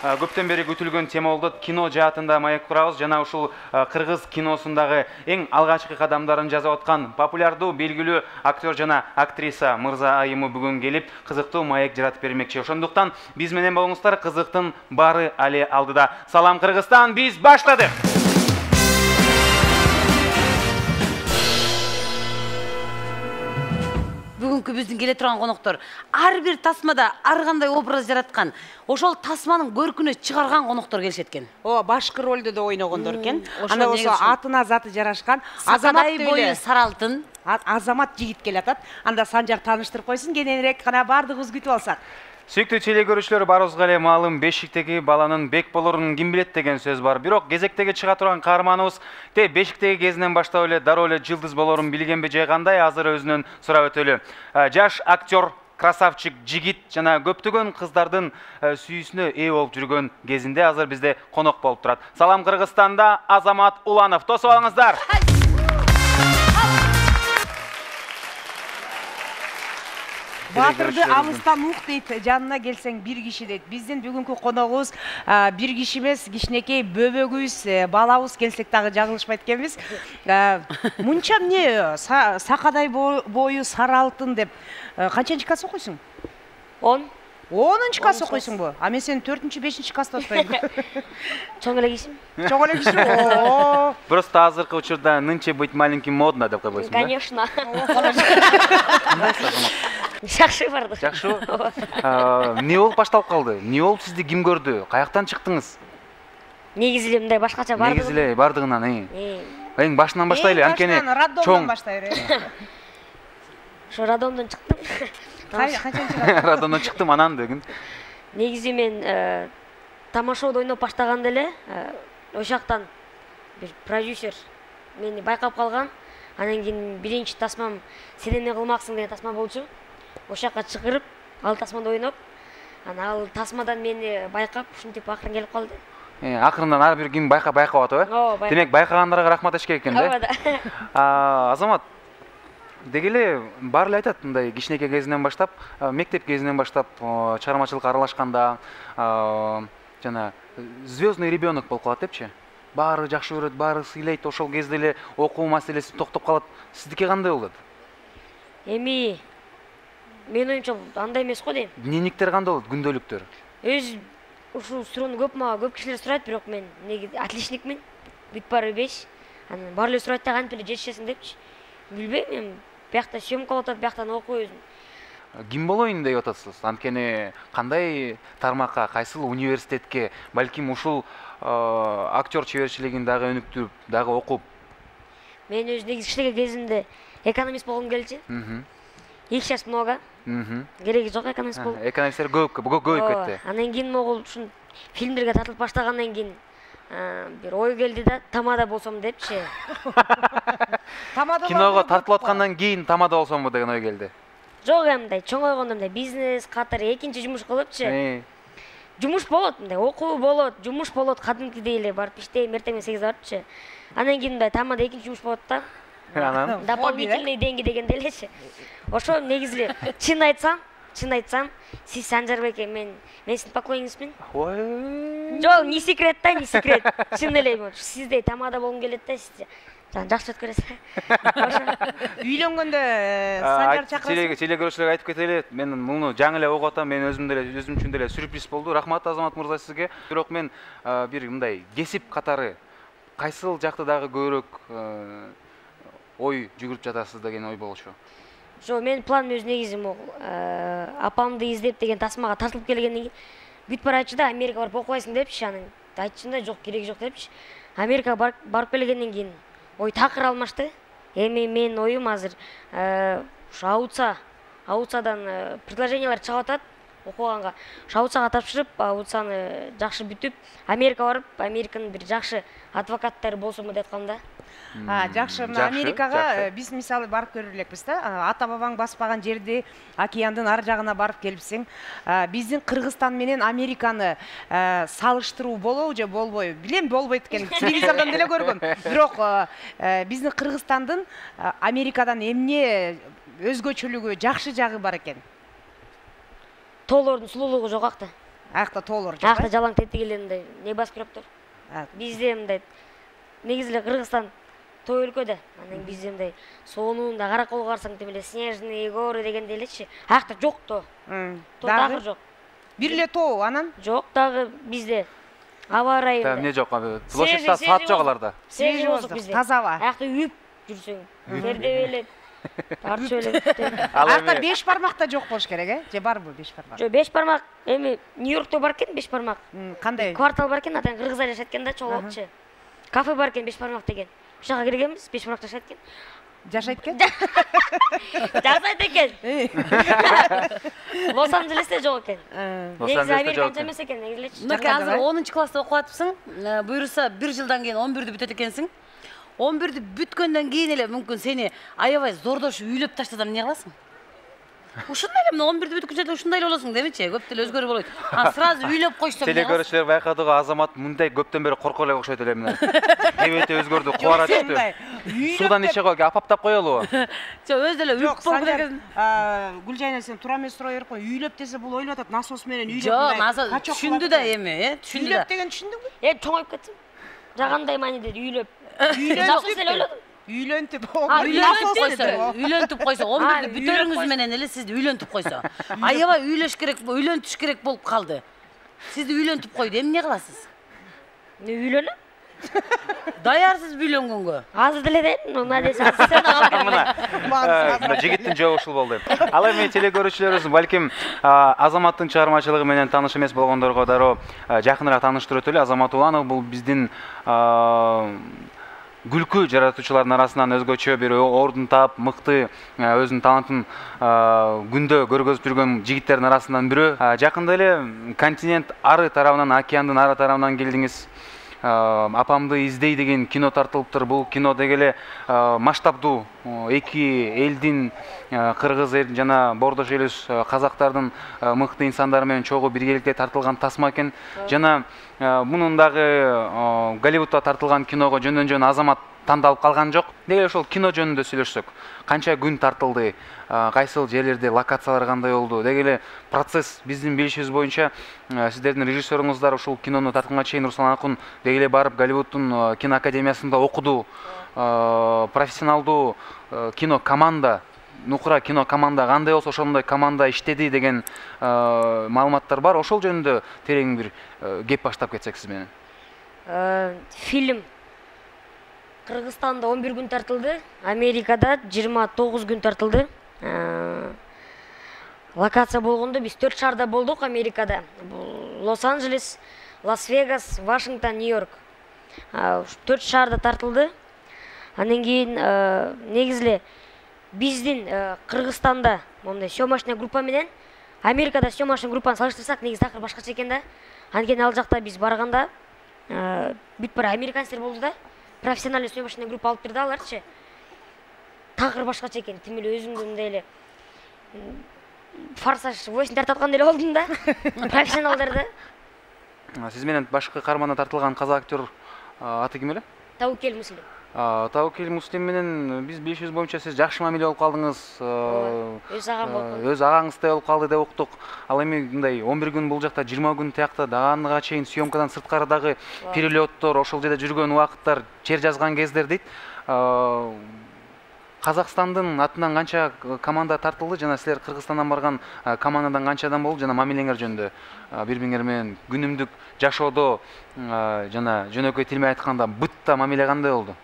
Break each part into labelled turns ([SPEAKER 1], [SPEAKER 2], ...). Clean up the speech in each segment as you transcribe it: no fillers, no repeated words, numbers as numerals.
[SPEAKER 1] көптөн бери күтүлгөн тема болду. Кино жаатында маек курабыз жана ушул кыргыз киносундагы эң алгачкы кадамдарын жасап аткан популярдуу белгилүү актер жана актриса Мырза Айымы бүгүн келип кызыктуу маек жаратып бермекчи. Ошондуктан биз менен болуңуздар, кызыктын баары али алдыда. Салам Кыргызстан, биз баштадык.
[SPEAKER 2] Бүгүнкү биздин келе турган коноктор ар бир тасмада ар кандай образ жараткан, ошол тасманын көркүнө чыгарган коноктор келишет экен.
[SPEAKER 3] Башкы ролдо да ойногондор экен. Анда болсо атына заты жарашкан
[SPEAKER 2] Азамат бою сары алтын.
[SPEAKER 3] Азамат жигит келатат. Анда Санжар тааныштырып койсун, кененирээк гана бардыгыбыз күтүп алсак.
[SPEAKER 1] Сүйүктүү теле көрүүчүлөр, барыбызга эле маалым, бешиктеги баланын бек болорун ким билет деген сөз бар. Бирок кезектеги чыга турган каарманыбыз бешиктеги кезинен баштап эле дароо эле жылдыз болорун билгенби же кандай, азыр өзүнөн сурап өтөлү. Жаш актер, красавчик жигит жана көптөгөн кыздардын сүйүүсүнө ээ болуп жүргөн кезинде азыр бизде конок болуп турат. Салам Кыргызстанда Азамат Уланов. Тосуп алыңыздар.
[SPEAKER 3] Батырды алыстан ук дейт, жанына келсең бир киши дейт. Биздин бүгүнкү коногубуз бир киши эмес, кичинекей бөбөгүбүз, балабыз келсек дагы жаңылышпайт экенбиз. Мынча эмне сакадай бою сары алтын деп канчанчы класс окуйсуң?
[SPEAKER 4] 10.
[SPEAKER 3] 10-нчы класс окуйсуңбу? А мен сени 4-5 класста отпойм.
[SPEAKER 4] Чоң эле кишим.
[SPEAKER 3] Чоң эле киши.
[SPEAKER 1] Просто азыркы учурда нынче быть маленьким модно деп койбойсуңбу?
[SPEAKER 4] Конечно. Жакшы барды.
[SPEAKER 1] Жакшы. Эмне болуп башталып калды? Эмне болуп сизди ким көрдү? Каяктан чыктыңыз?
[SPEAKER 4] Негизи эле мындай башкача барды.
[SPEAKER 1] Негизи эле бардыгынан, эң башынан баштайлы, анткени
[SPEAKER 3] чоң баштайлы.
[SPEAKER 4] Ошо радомдон чыктым.
[SPEAKER 3] Радомдон
[SPEAKER 1] чыктым, анан деген.
[SPEAKER 4] Негизи мен тамашоодо ойноп баштаганда эле ошол жактан бир продюсер мени байкап калган. Анан кийин биринчи тасмам "Сен эмне кылмаксың" деген тасма болчу. Ошол жакка чыгырып, ал тасмада ойноп, анан ал тасмадан мени байкап, ушинтип акырын келип калды.
[SPEAKER 1] Акырындан ар бир ким байкап атып, Демек байкагандарга рахмат айт керек экен да. Азамат, деги эле баары эле айтат, мындай кичинекей кезинен баштап, мектеп кезинен баштап чыгармачылыкка аралашканда жана звездный ребенок болуп калат депчи. Баары жакшы көрөт, баары сыйлайт, ошол кезде эле окуу маселеси токтоп калат. Сиздики кандай болот?
[SPEAKER 4] Эми мен оюмча андай эмес го дейм.
[SPEAKER 1] Дневниктер кандай болот, күндөлүктөр?
[SPEAKER 4] Ушул суроону көп кишилер сурайт, бирок мен отличникмин. Бүт баары 5. Анан баары эле сурайт да, кантип эле жетишесиң депчи. Билбейм, мен биякта съемка болуп атат, бияктан окуу өзүм.
[SPEAKER 1] Ким болоюн деп атасыз? Анткени кандай тармакка, кайсыл университетке, балким ушул актер чеберчилигин дагы өнүктүрүп, дагы окуп?
[SPEAKER 4] Мен өзү негизи кичинекей кезимде экономист болгум келчү. Их сейчас много. Кереги жок экономист болуп.
[SPEAKER 1] Экономисттер көбөйүп кетти.
[SPEAKER 4] Андан кийин могул ушун фильмдерге тартылып баштагандан кийин бир ой келди да, тамада болсом депчи.
[SPEAKER 1] Киного тартылып аткандан кийин тамада болсомбу деген ой келди.
[SPEAKER 4] Жок, мындай чоң ойгондо мындай бизнес катары экинчи жумуш кылыпчы. Жумуш болот, мындай окуу болот, жумуш болот, кадимкидей эле барып иштейм, эртең менен 8 барыпчы. Андан кийин мындай тамада экинчи жумуш болот да.
[SPEAKER 1] Анан
[SPEAKER 4] дополнительный деньги дегенде элечи. Ошо негизи эле чын айтсам, сиз Санжарбек, мен сиздин поклоннингизмин. Жок, не секрет да, не секрет. Чын эле сиздей тамада болгум келет да, сиз жакшы өткөрөсүз.
[SPEAKER 3] Үйлөнгөндө Санжар чакырасыз.
[SPEAKER 1] Теле көрүүчүлөргө айтып кетели, мен муну жаңы эле угуп атам, мен өзүм үчүн деле сюрприз болду. Рахмат Азамат мырза сизге. Бирок мен бир мындай кесип катары кайсыл жакты дагы көбүрөөк ой жүгүрүп жатасыз деген ой болчу.
[SPEAKER 4] Жо, мен планым өз негизи могул апамды издеп деген тасмага тартылып келгенден кийин бүт бар айтчы да, Америка барып окубайсың депчи. Анан айтчым да, жок, кереги жок депчи. Америка барып келгенден кийин ой такыр алмашты. Эми мен оюм азыр ушу аутсадан предложениялар чыгып атат окуганга. Аутсага тапшырып, аутсаны жакшы бүтүп, Америка барып, Американын бир жакшы адвокаттары болсомбу деп аткам да.
[SPEAKER 3] Жакшы, Америкага биз мисалы барып көрүп элекпиз да. Ата бабаң баспаган жерде океандын ар жагына барып келипсиң. Биздин Кыргызстан менен Американы салыштыруу болобу же болбойбу? Билем, болбойт экен. Телевизордон деле көргөм. Бирок биздин Кыргызстандын Америкадан эмне өзгөчөлүгү, жакшы жагы бар экен?
[SPEAKER 4] Тоолордун сулуулугу жогакта.
[SPEAKER 3] Аякта тоолор жок.
[SPEAKER 4] Аякта жалаң тетик эле мындай не басып туруптур. Бизде мындай негизи эле Кыргызстан той өлкө да. Анан бизде мындай сонунда караколго барсаң тим эле снежные горы дегенде элечи. Аякта жок то. То дагы жок.
[SPEAKER 3] Бир эле тоо анан?
[SPEAKER 4] Жок дагы бизде. Аба ырайы.
[SPEAKER 1] Эмне жок? Площадьта саат жок аларда.
[SPEAKER 3] Свежий воздух бизде. Таза аба.
[SPEAKER 4] Аякта үйүп жүрсөң, тердеп эле, тартып эле.
[SPEAKER 3] Аякта 5 бармак да жок болуш керек, же барбы 5 бармак?
[SPEAKER 4] Жок, 5 бармак. Эми Нью-Йоркто бар экен 5 бармак.
[SPEAKER 3] Кандай?
[SPEAKER 4] Квартал бар экен, атан кыргыздар жашайт экен да, чогулчу. Кафе бар экен 5 бармак деген. Ошага киргенбиз, 5 бармак жашайт экен.
[SPEAKER 3] Жашайт экен?
[SPEAKER 4] Жашайт экен. Лос-Анджелесте жок экен. Негизи американча эмес экен, негизичи.
[SPEAKER 2] Мына азыр 10-класста окуп атыпсың. Буюрса 1 жылдан кийин 11-дү бүтөт экенсиң. 11-дү бүткөндөн кийин эле мүмкүн сени аябай зордошуп үйлөп таштасам эмне кыласың? Ушундай эле мына 11-дү бүткүнчө ушундай эле болосуң демечи, көп деле өзгөрүү болбойт. Сразу үйлөп койсоң.
[SPEAKER 1] Телекөрүүчүлөр байкадыгы Азамат мындай көптөн бери коркор эле окшойт эле мына. Кебети өзгөрдү, кубара түштү. Судан иче койгу, апаптап коелубу?
[SPEAKER 2] Жок, өзү деле үйүп болду деген.
[SPEAKER 3] Гүлжайна сен туура эмес сурай берип кой. Үйлөп десе бул ойлоп атат, насос менен үйлөп.
[SPEAKER 2] Жок, насос түшүндү да эми, түшүндү да.
[SPEAKER 3] Үйлөп деген түшүндүңбү?
[SPEAKER 4] Чоңоюп кетсем. Жагандай маани деди, үйлөп. Насос эле ойлодум.
[SPEAKER 3] Үйлөнтүп.
[SPEAKER 2] Үйлөнтүп койсо, 11-дү бүтөрүңүз менен эле сизди үйлөнтүп койсо. Аябай үйлөш керек, үйлөнтүш керек болуп калды. Сизди үйлөнтүп койду, эмне кыласыз?
[SPEAKER 4] Үйлөнөм.
[SPEAKER 2] Даярсыз үйлөнгөнгө.
[SPEAKER 4] Азыр деле дейм, мына десең сен алам.
[SPEAKER 1] Мына жигиттин жообу ушул болду. Ал эми телекөрүүчүлөрүбүз балким Азаматтын чыгармачылыгы менен тааныш эмес болгондорго дароо жакыныраак тааныштырып өтөлү. Азамат Уланов бул биздин күлкү жаратуучулардын арасынан өзгөчө бир ордун таап, мыкты өзүнүн талантын күндө көргөзүп жүргөн жигиттердин арасынан бирөө. Жакында эле континент ары тарабынан, океандын ары тарабынан келдиңиз. Апамды издей деген кино тартылыптыр. Бул кино деги эле масштабдуу эки элдин, кыргыз эл жана бордош элибиз казактардын мыкты инсандары менен чогуу биргеликте тартылган тасма экен. Жана мунун дагы Голливудда тартылган киного жөндөн-жөн Азамат тандалып калган жок. Деги ошол кино жөнүндө сүйлөшсөк, канча күн тартылды, кайсыл жерлерде локациялар кандай болду, деги эле процесс биздин билишибиз боюнча сиздердин режиссеруңуздар ушул кинону тартканга чейин Руслан Акун деги эле барып Голливуддун кино академиясында окуду. Профессионалдуу кино команда, нукура кино команда кандай болсо ошондой команда иштеди деген маалыматтар бар. Ошол жөнүндө терең бир кеп баштап кетсек сиз менен.
[SPEAKER 4] Фильм Кыргызстанда 11 күн тартылды, Америкада 29 күн тартылды. Локация болгондо биз 4 шаарда болдук Америкада. Лос-Анджелес, Лас-Вегас, Вашингтон, Нью-Йорк. 4 шаарда тартылды. Андан кийин негизи эле биздин Кыргызстанда мондай съемочный группа менен Америкада съемочный группаны салыштырсак, негизи такыр башкача экен да. Анткени ал жакта биз барганда бүт бир американецтер болду да. Профессиональный съемочный группа алып берди аларчы. Такыр башкача экен. Тим эле өзүмдү мындай эле Форсаж 8 тартып аткандай эле болдум да. Профессионалдар да.
[SPEAKER 1] Сиз менен башкы каарманда тартылган казак актер аты ким эле?
[SPEAKER 4] Таукел Муслим.
[SPEAKER 1] Таукел Муслим менен биз билишибиз боюнча сиз жакшы мамиле болуп калдыңыз.
[SPEAKER 4] Өз агам болуп.
[SPEAKER 1] Өз агаңыздай болуп калды деп уктук. Ал эми мындай 11 күн бул жакта, 20 күн тиякта даганга чейин съемкадан сырткары дагы перелеттор, ошол жерде жүргөн убакыттар, чер жазган кездер дейт. Казакстандын атынан канча команда тартылды жана силер Кыргызстандан барган командадан канча адам болду жана мамилеңер жөнүндө бири-бириңер менен күнүмдүк жашоодо жана жөнөкөй тил менен айтканда бытта мамиле кандай болду?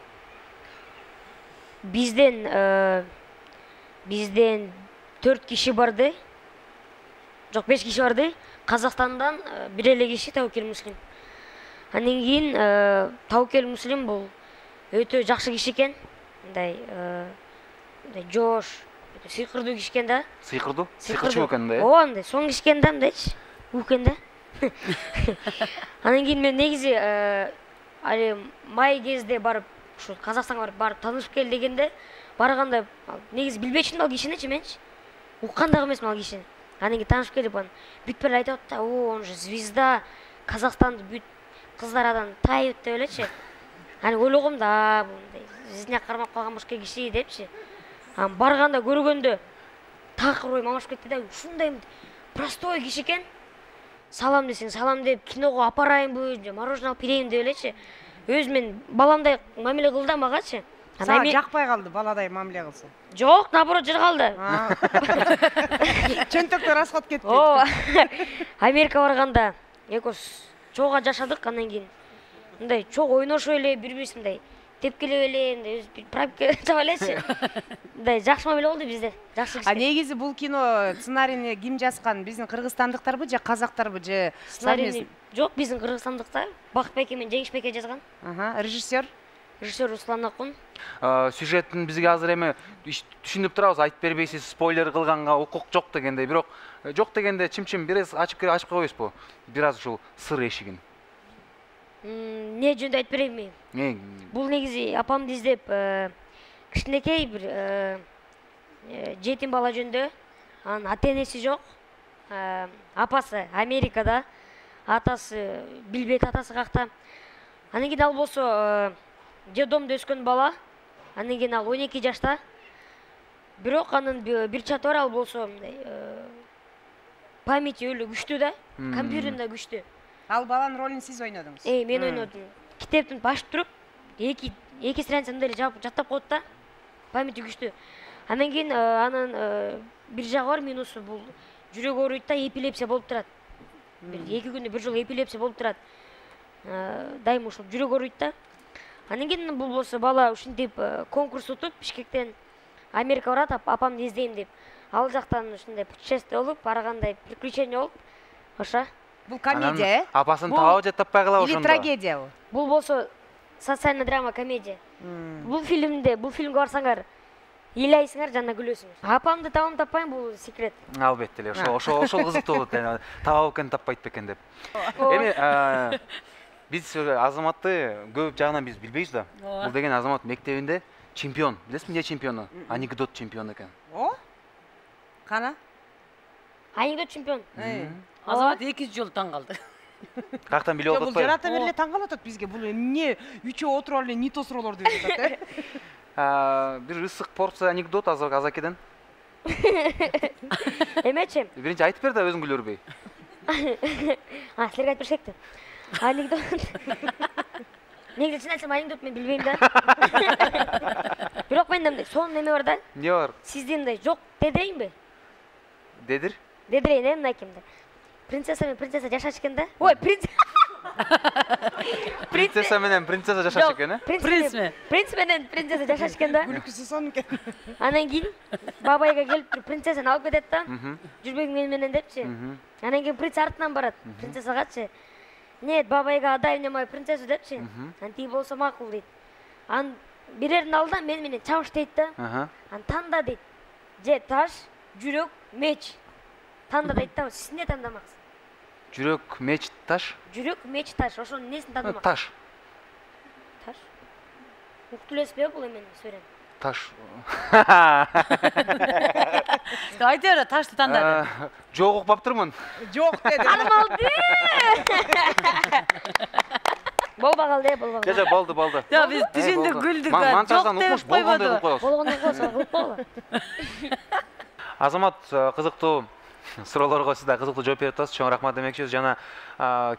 [SPEAKER 4] Бизден 4 киши барды. Жок, 5 киши барды. Казакстандан бир эле киши Таукел Муслим. Андан кийин Таукел Муслим бул өтө жакшы киши экен. Мындай жош, сыйкырдуу киши экен да.
[SPEAKER 1] Сыйкырдуу? Сыйкырчу экен да.
[SPEAKER 4] Ооба, мындай соң киши экен да, мындайчы. Укен да. Андан кийин мен негизи али май кезде барып ушу Казакстанга барып таанышып кел дегенде барганда негизи билбечүмүн ал кишиничи менчи. Уккан дагы эмесмин ал кишини. Анан кийин таанышып келип анан бүт бир айтып атты, он же звезда, Казакстанды бүт кыздардан тайып деп элечи. Анан ойлогом да, мындай жизня кармап калган башка киши депчи. Анан барганда көргөндө такыр ой мамашып кетти да, ушундай простой киши экен. салам десең салам деп, киного апарайынбы, же мороженое алып берейин деп элечи. Өзү мен баламдай мамиле кылды магачы.
[SPEAKER 3] Сага жакпай калды баладай мамиле кылса?
[SPEAKER 4] Жок, наоборот жыр калды.
[SPEAKER 3] Чөнтөктөр расход кетпейт.
[SPEAKER 4] Ооба. Америка барганда экөөбүз чоога жашадык, андан кийин мындай чогуу ойношуп эле, бири-бирибиз мындай тепкилеп эле, мындай пробка чаба элечи. Мындай жакшы мамиле болду бизде. Жакшы киши.
[SPEAKER 3] Негизи бул кино сценарийни ким жазган? Биздин кыргызстандыктарбы же казактарбы же
[SPEAKER 4] сценарийни? Жок, биздин кыргызстандыктар. Бакыт Беке менен Жеңиш Беке жазган.
[SPEAKER 3] Режиссер?
[SPEAKER 4] Режиссер Руслан Акун.
[SPEAKER 1] Сюжеттин бизге азыр эми түшүнүп турабыз, айтып бербейсиз, спойлер кылганга укук жок дегендей, бирок жок дегенде чим-чим бир аз ачып койбойсузбу? Бир аз ушул сыр эшигин.
[SPEAKER 4] Не жөнүндө айтып берейинби? Бул негизи апамды издеп, кичинекей бир жетим бала жөнүндө. Анын ата-энеси жок. Апасы Америкада, атасы билбейт атасы какта. Анан кийин ал болсо детдомдо өскөн бала. Андан кийин ал 12 жашта. Бирок анын бир чаты бар, ал болсо мындай памяти өлө күчтүү да, компьютеринде күчтүү.
[SPEAKER 3] Ал баланын ролун сиз ойнодуңуз?
[SPEAKER 4] Мен ойнодум. Китептин башып туруп, эки страница мындай жаттап коет да. Памяти күчтүү. Андан кийин анын бир жагы бар, минусу бул жүрөк ооруйт да, эпилепсия болуп турат. Бир 2 күндө бир жолу эпилепсия болуп турат. Дайым ушул жүрөк ооруйт да. Андан кийин бул болсо бала ушинтип конкурс утуп, Бишкектен Америка барат, апамды издейм деп. Ал жактан ушундай путешествие болуп, баргандай приключение болуп, ошо.
[SPEAKER 3] Бул комедия,
[SPEAKER 1] Апасын таап же таппай калабы ошондо?
[SPEAKER 3] Или трагедия бул?
[SPEAKER 4] Бул болсо социальный драма, комедия. Бул фильмге барсаңар, ыйлайсыңар жана күлөсүңөр. Апамды табам таппайм, бул секрет.
[SPEAKER 1] Албетте эле, ошол кызыктуу болот. Табап экен, таппайт бекен деп. Эми биз Азаматты көп жагынан биз билбейбиз да. Бул деген Азамат мектебинде чемпион. Билесизби эмне чемпиону? Анекдот чемпиону экен.
[SPEAKER 3] Кана?
[SPEAKER 4] Анекдот чемпион.
[SPEAKER 2] Азамат 2 жолу таң калды.
[SPEAKER 1] Каяктан билип
[SPEAKER 3] Бул
[SPEAKER 1] атпайбы?
[SPEAKER 3] жарата бериле таң калып атат бизге. Бул эмне үчөө отуруп эле нито суроолорду берип атат,
[SPEAKER 1] Бир ысык порция анекдот Азакеден.
[SPEAKER 4] Эмечи?
[SPEAKER 1] Биринчи айтып бер да, өзүң күлөрбөй.
[SPEAKER 4] Силерге айтып беришекти. Анекдот. Негизи чын айтсам анекдот мен билбейм да. Бирок менде мындай сонун неме бар да.
[SPEAKER 1] Эмне бар?
[SPEAKER 4] Сизде мындай жок дедирейинби?
[SPEAKER 1] Дедир?
[SPEAKER 4] Дедирейин, мындай кимде? Принцесса менен принцесса жашачу экен да. Ой,
[SPEAKER 1] Принцесса менен принцесса жашачу экен,
[SPEAKER 4] Принц менен принцесса жашачу экен да.
[SPEAKER 3] Күлкүсү сонун экен.
[SPEAKER 4] Анан кийин бабайга келип туруп принцессаны алып кетет да. Жүрбөйүң менен депчи. Анан кийин принц артынан барат. Принцессагачы. Нет, бабайга отдай мне мою принцессу депчи. Анан тиги болсо макул дейт. Анан бирерин алда мен менен чабыш дейт да. Анан танда дейт. Же таш, жүрөк, меч. Танда дейт да. Сиз эмне тандамаксыз?
[SPEAKER 1] Жүрөк, меч, таш?
[SPEAKER 4] Жүрөк, меч, таш. Ошонун несин тандамаксыз?
[SPEAKER 1] Таш.
[SPEAKER 4] Таш? Уктуп элесизби бул эмени сөйрөм?
[SPEAKER 1] Таш.
[SPEAKER 2] Айта бер, ташты тандады.
[SPEAKER 1] Жок укпаптырмын.
[SPEAKER 3] Жок деди.
[SPEAKER 4] Алды. Болбагалды, болбагалды.
[SPEAKER 1] Жок, болду.
[SPEAKER 2] Я биз түшүндүк, күлдүк.
[SPEAKER 1] Монтаждан укмуш болгондой кылып коебуз.
[SPEAKER 4] Болгондой кылып болбу.
[SPEAKER 1] Азамат, кызыктуу суроолорго сиз да кызыктуу жооп берип атасыз. Чоң рахмат демекчибиз. Жана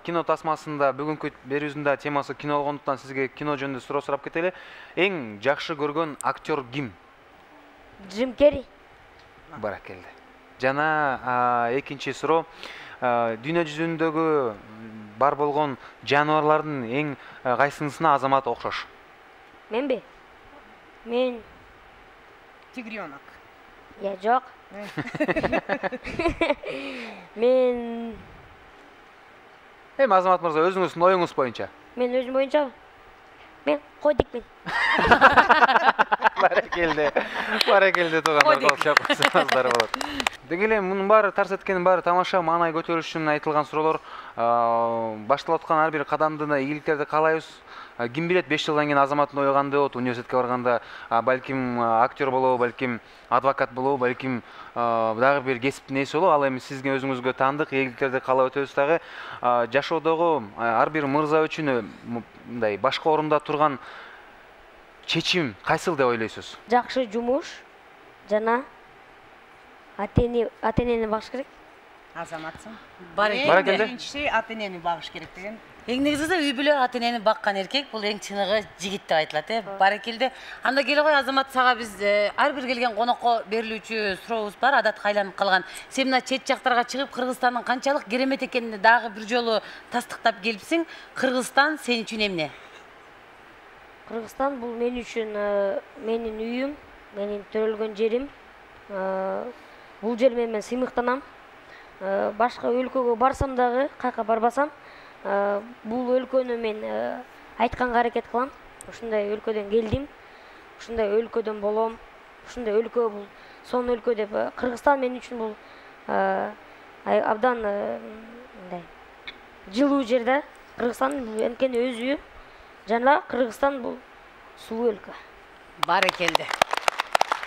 [SPEAKER 1] кино тасмасында бүгүнкү берүүбүздүн темасы кино болгондуктан сизге кино жөнүндө суроо сурап кетели. Эң жакшы көргөн актер ким?
[SPEAKER 4] Джим Керри.
[SPEAKER 1] Баракелде. Жана экинчи суроо, дүйнө жүзүндөгү бар болгон жаныбарлардын эң кайсынысына Азамат окшош?
[SPEAKER 4] Менби? Мен
[SPEAKER 3] Тигренок.
[SPEAKER 4] Я жок. Мен
[SPEAKER 1] Азамат мырза, өзүңүздүн оюңуз боюнча.
[SPEAKER 4] Мен өзүм боюнча мен койдикмин.
[SPEAKER 1] Баракелде туугандар, чапсаңыздар болот. Деги эле мунун баары тарс эткенин баары тамаша, маанай көтөрүш үчүн айтылган суроолор. Башталып аткан ар бир кадамдын ийгиликтерди каалайбыз. Ким билет 5 жылдан кийин Азаматтын ою кандай болот? Университетке барганда балким актер болобу, балким адвокат болобу, балким дагы бир кесиптин ээси болобу. Ал эми сизге өзүңүзгө таандык ийгиликтерди каалап өтөбүз дагы. Жашоодогу ар бир мырза үчүн мындай башка орунда турган чечим кайсыл деп ойлойсуз?
[SPEAKER 4] Жакшы жумуш жана ата-энени багыш керек.
[SPEAKER 3] Азаматсың.
[SPEAKER 1] Баракелде.
[SPEAKER 3] Биринчи ата энени багыш керек деген.
[SPEAKER 2] Эң негизи үй бүлө ата энени баккан эркек бул эң чыныгы жигит деп айтылат, Баракелде. Анда келе кой Азамат, сага биз ар бир келген конокко берилүүчү сурообуз бар, адатка айланып калган. Сен мына чет жактарга чыгып Кыргызстандын канчалык керемет экенин дагы бир жолу тастыктап келипсиң. Кыргызстан сен үчүн эмне?
[SPEAKER 4] Кыргызстан бул мен үчүн менин үйүм, менин төрөлгөн жерим. Бул жер менен сыймыктанам. Башка өлкөгө барсам дагы, кайка барбасам, бул өлкөнү мен айтканга аракет кылам. Ушундай өлкөдөн келдим, ушундай өлкөдөн болом, ушундай өлкө бул сонун өлкө деп. Кыргызстан мен үчүн бул абдан мындай жылуу жер да. Кыргызстан бул анткени өз үйү. Жана Кыргызстан бул сулуу өлкө.
[SPEAKER 2] Баракелде.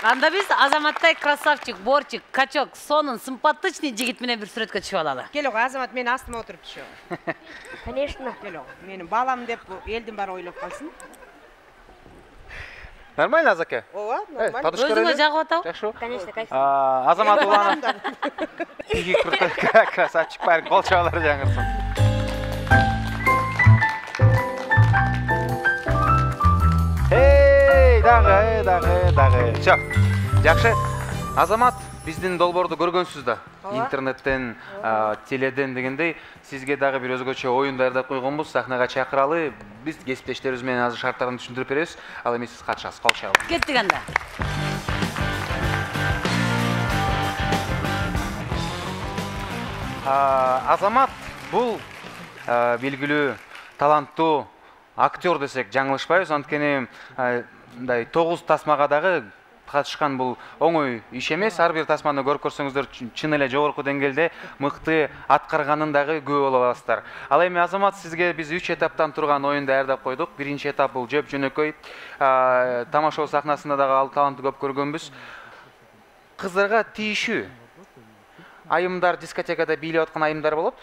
[SPEAKER 2] Анда биз Азаматтай красавчик, борчик, качок, сонун, симпатичный жигит менен бир сүрөткө түшүп алалы.
[SPEAKER 3] Кел ого, Азамат, мен астыма отуруп түшө.
[SPEAKER 4] Конечно.
[SPEAKER 3] Кел ого, менин балам деп элдин баары ойлоп калсын.
[SPEAKER 1] Нормально, Азаке?
[SPEAKER 3] Ооба, нормально.
[SPEAKER 2] Өзүңө жагып атабы?
[SPEAKER 1] Жакшы.
[SPEAKER 4] Конечно, кайсы.
[SPEAKER 1] Азамат Уланов. Иги крутой красавчик парень, кол чабалары жаңырсын. Дагы. Всё. Жакшы. Азамат, биздин долбоорду көргөнсүз да. Интернеттен, теледен дегендей, сизге дагы бир өзгөчө оюн даярдап койгонбуз. Сахнага чакыралы. Биз кесиптештерибиз менен азыр шарттарын түшүндүрүп беребиз. Ал эми сиз катышасыз. Кол чабалы.
[SPEAKER 2] Кеттик анда.
[SPEAKER 1] Азамат бул белгилүү, таланттуу актер десек жаңылышпайбыз. Анткени мындай 9 тасмага дагы катышкан бул оңой иш эмес. Ар бир тасманы көрүп көрсөңүздөр чын эле жогорку деңгээлде мыкты аткарганын дагы күбө боло аласыздар. Ал эми Азамат, сизге биз 3 этаптан турган оюн даярдап койдук. Биринчи этап бул жөп жөнөкөй. Тамашоо сахнасында дагы ал талантты көп көргөнбүз. Кыздарга тийишүү. Айымдар дискотекада бийлеп аткан айымдар болот.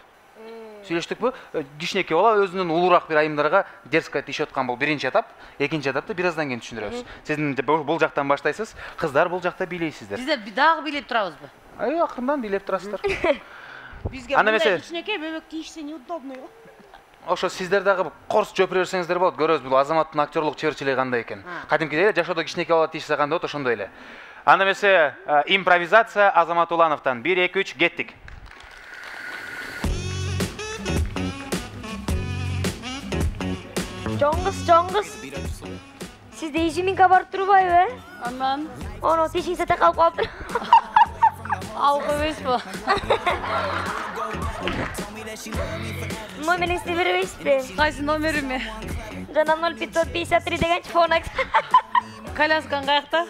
[SPEAKER 1] Сүйлөштүкпү? Кичинекей бала өзүнүн улуураак бир айымдарга дерзко тийишип аткан бул биринчи этап. Экинчи этапты бир аздан кийин түшүндүрөбүз. Сиздин бул жактан баштайсыз, кыздар бул жакта бийлейсиздер.
[SPEAKER 2] Биз дагы бийлеп турабызбы?
[SPEAKER 1] Акырындан бийлеп турасыздар.
[SPEAKER 3] Бизге мындай кичинекей бөбөк тийишсе неудобно.
[SPEAKER 1] Ошо сиздер дагы корс жөпүрө берсеңиздер болот. Көрөбүз бул Азаматтын актерлук чеберчилиги кандай экен. Кадимкидей эле жашоодо кичинекей бала тийишсе кандай болот, ошондой эле. Анда эмесе импровизация Азамат Улановтан 1 2 3 кеттик.
[SPEAKER 4] Жоңгуз. Сизде изюминка бар турбайбы?
[SPEAKER 2] Андан
[SPEAKER 4] Оно тишиңизде такалып калыптыр.
[SPEAKER 2] алып эмеспи?
[SPEAKER 4] Номериңизди бербейсизби?
[SPEAKER 2] Кайсы номериме?
[SPEAKER 4] Жана 0553 деген телефон.
[SPEAKER 2] Коляскаң каякта?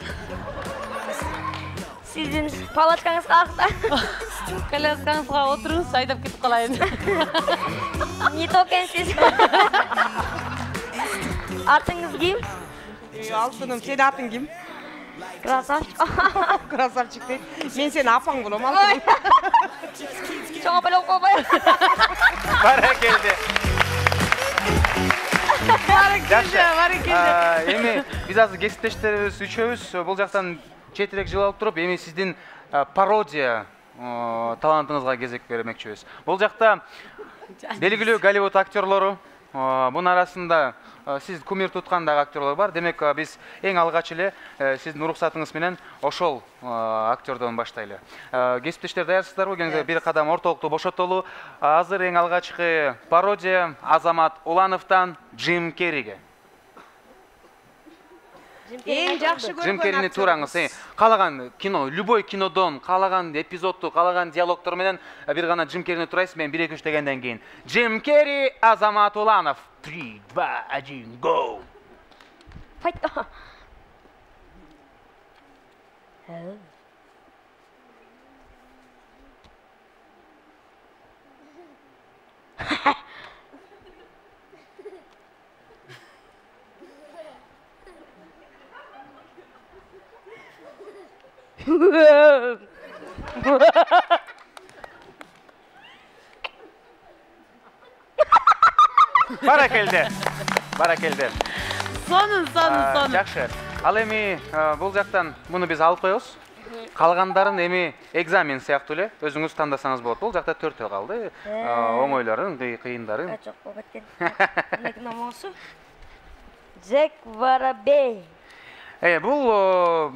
[SPEAKER 4] Сиздин палаткаңыз каякта?
[SPEAKER 2] Коляскаңызга отуруңуз, айдап кетип калайын.
[SPEAKER 4] Не то экенсиз. Атыңыз ким?
[SPEAKER 3] Алтыным, сенин атың ким?
[SPEAKER 4] Красавчик.
[SPEAKER 3] Красавчик дейт. Мен сени апаң болом, алтыным.
[SPEAKER 4] Чоң беле койбой.
[SPEAKER 1] Баракелде.
[SPEAKER 2] Баракелде.
[SPEAKER 1] Эми биз азыр кесиптештерибиз үчөөбүз бул жактан четирээк жыл алып туруп, эми сиздин пародия талантыңызга кезек бермекчибиз. Бул жакта белгилүү Голливуд актерлору, бунун арасында сиз кумир туткан дагы актерлор бар. Демек биз эң алгач эле сиздин уруксатыңыз менен ошол актердон баштайлы. Кесиптештер даярсыздарбы? Кеңиз бир кадам ортолукту бошотолу. Азыр эң алгачкы пародия Азамат Улановтан Джим Керриге.
[SPEAKER 3] Эң жакшы көргөн
[SPEAKER 1] Джим Керрини тураңыз. Калаган кино, любой кинодон, калаган эпизодду, калаган диалогтор менен бир гана Джим Керрини турайсыз, мен 1 2 3 дегенден кийин. Джим Керри, Азамат Уланов. 3 2 1 go.
[SPEAKER 4] Fight.
[SPEAKER 1] Баракелде.
[SPEAKER 2] Сонун.
[SPEAKER 1] Жакшы. Ал эми бул жактан муну биз алып коебуз. Калгандарын эми экзамен сыяктуу эле өзүңүз тандасаңыз болот. Бул жакта 4 калды. Оңойлорун, кыйындарын.
[SPEAKER 4] Жок, кеткен. Мынакей номосу. Джек Воробей.
[SPEAKER 1] Бул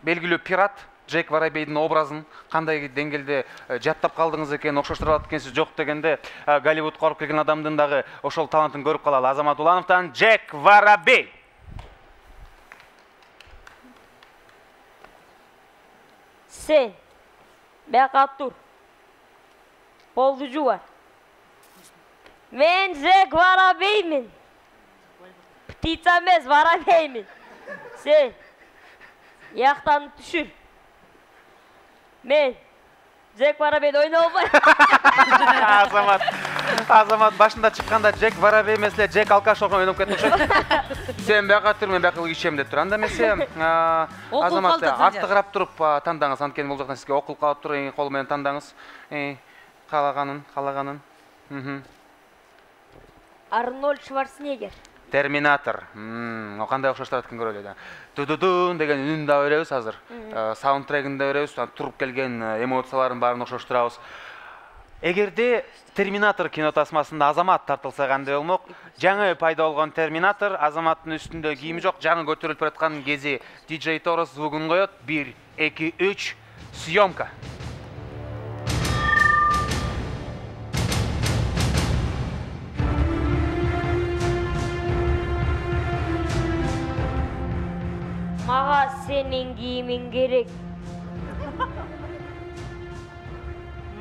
[SPEAKER 1] белгилүү пират Джек Воробейдин образын кандай деңгээлде жаттап калдыңыз экен, окшоштура алат экенсиз, жок дегенде Голливудка барып келген адамдын дагы ошол талантын көрүп калалы. Азамат Улановтан Джек Воробей.
[SPEAKER 4] Sen бияка тур. Болду жубар. Мен Джек Воробеймин. Птица эмес, воробеймин. Sen яктан түшүр. Мен Джек Воробейди ойноп албайм.
[SPEAKER 1] Азамат башында чыкканда Джек Воробей эмес эле Джек Алкаш ойноп кетти окшойт. Сен бияка тур, мен бияка ичем деп тур. Анда эмесе Азамат артты карап туруп тандаңыз. Анткени бул жактан сизге окул калып тур, кол менен тандаңыз. Каалаганын.
[SPEAKER 4] Арнольд Шварценеггер.
[SPEAKER 1] Терминатор. Кандай окшоштурат экен көрөлү да. Дудудун деген үнүн да беребиз азыр. Саундтрегин да беребиз, туруп келген эмоцияларын баарын окшоштурабыз. Эгерде Терминатор кино тасмасында Азамат тартылса кандай болмок? Жаңы пайда болгон Терминатор, Азаматтын үстүндө кийими жок, жаңы көтөрүлүп бараткан кези DJ Торос звугун коет. 1, 2, 3, съемка.
[SPEAKER 4] Мага сенин кийимиң керек.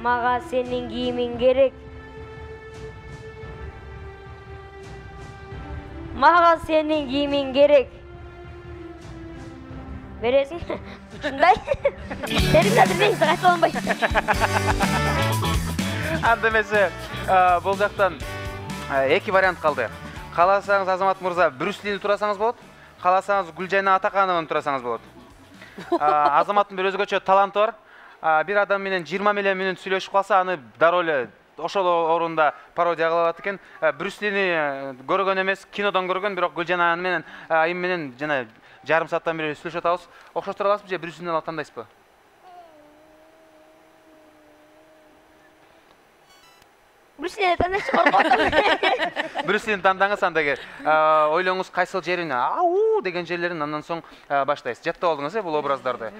[SPEAKER 4] Мага сенин кийимиң керек. Мага сенин кийимиң керек. Бересиң? Ушундай. Терминатор дейсиң, кайтып албайсың.
[SPEAKER 1] Анда эмесе, бул жактан эки вариант калды. Кааласаңыз Азамат мырза Брюс Лини турасаңыз болот. Кааласаңыз Гүлжайна Атаканованы турасаңыз болот. Азаматтын бир өзгөчө таланты бар. Бир адам менен 20 мүнөт сүйлөшүп калса, аны дароо эле ошол орунда пародия кыла алат экен. Брюс Лини көргөн эмес, кинодон көргөн, бирок Гүлжайна менен айым менен жана жарым сааттан бери сүйлөшүп атабыз. Окшоштура аласызбы же Брюс Линини алып тандайсызбы?
[SPEAKER 4] Брюс Лини тандаш коркот.
[SPEAKER 1] Брюс Лини тандаңыз, андагы ойлоңуз кайсыл жерин ау деген жерлерин андан соң баштайсыз. Жаттап алдыңыз бул образдарды.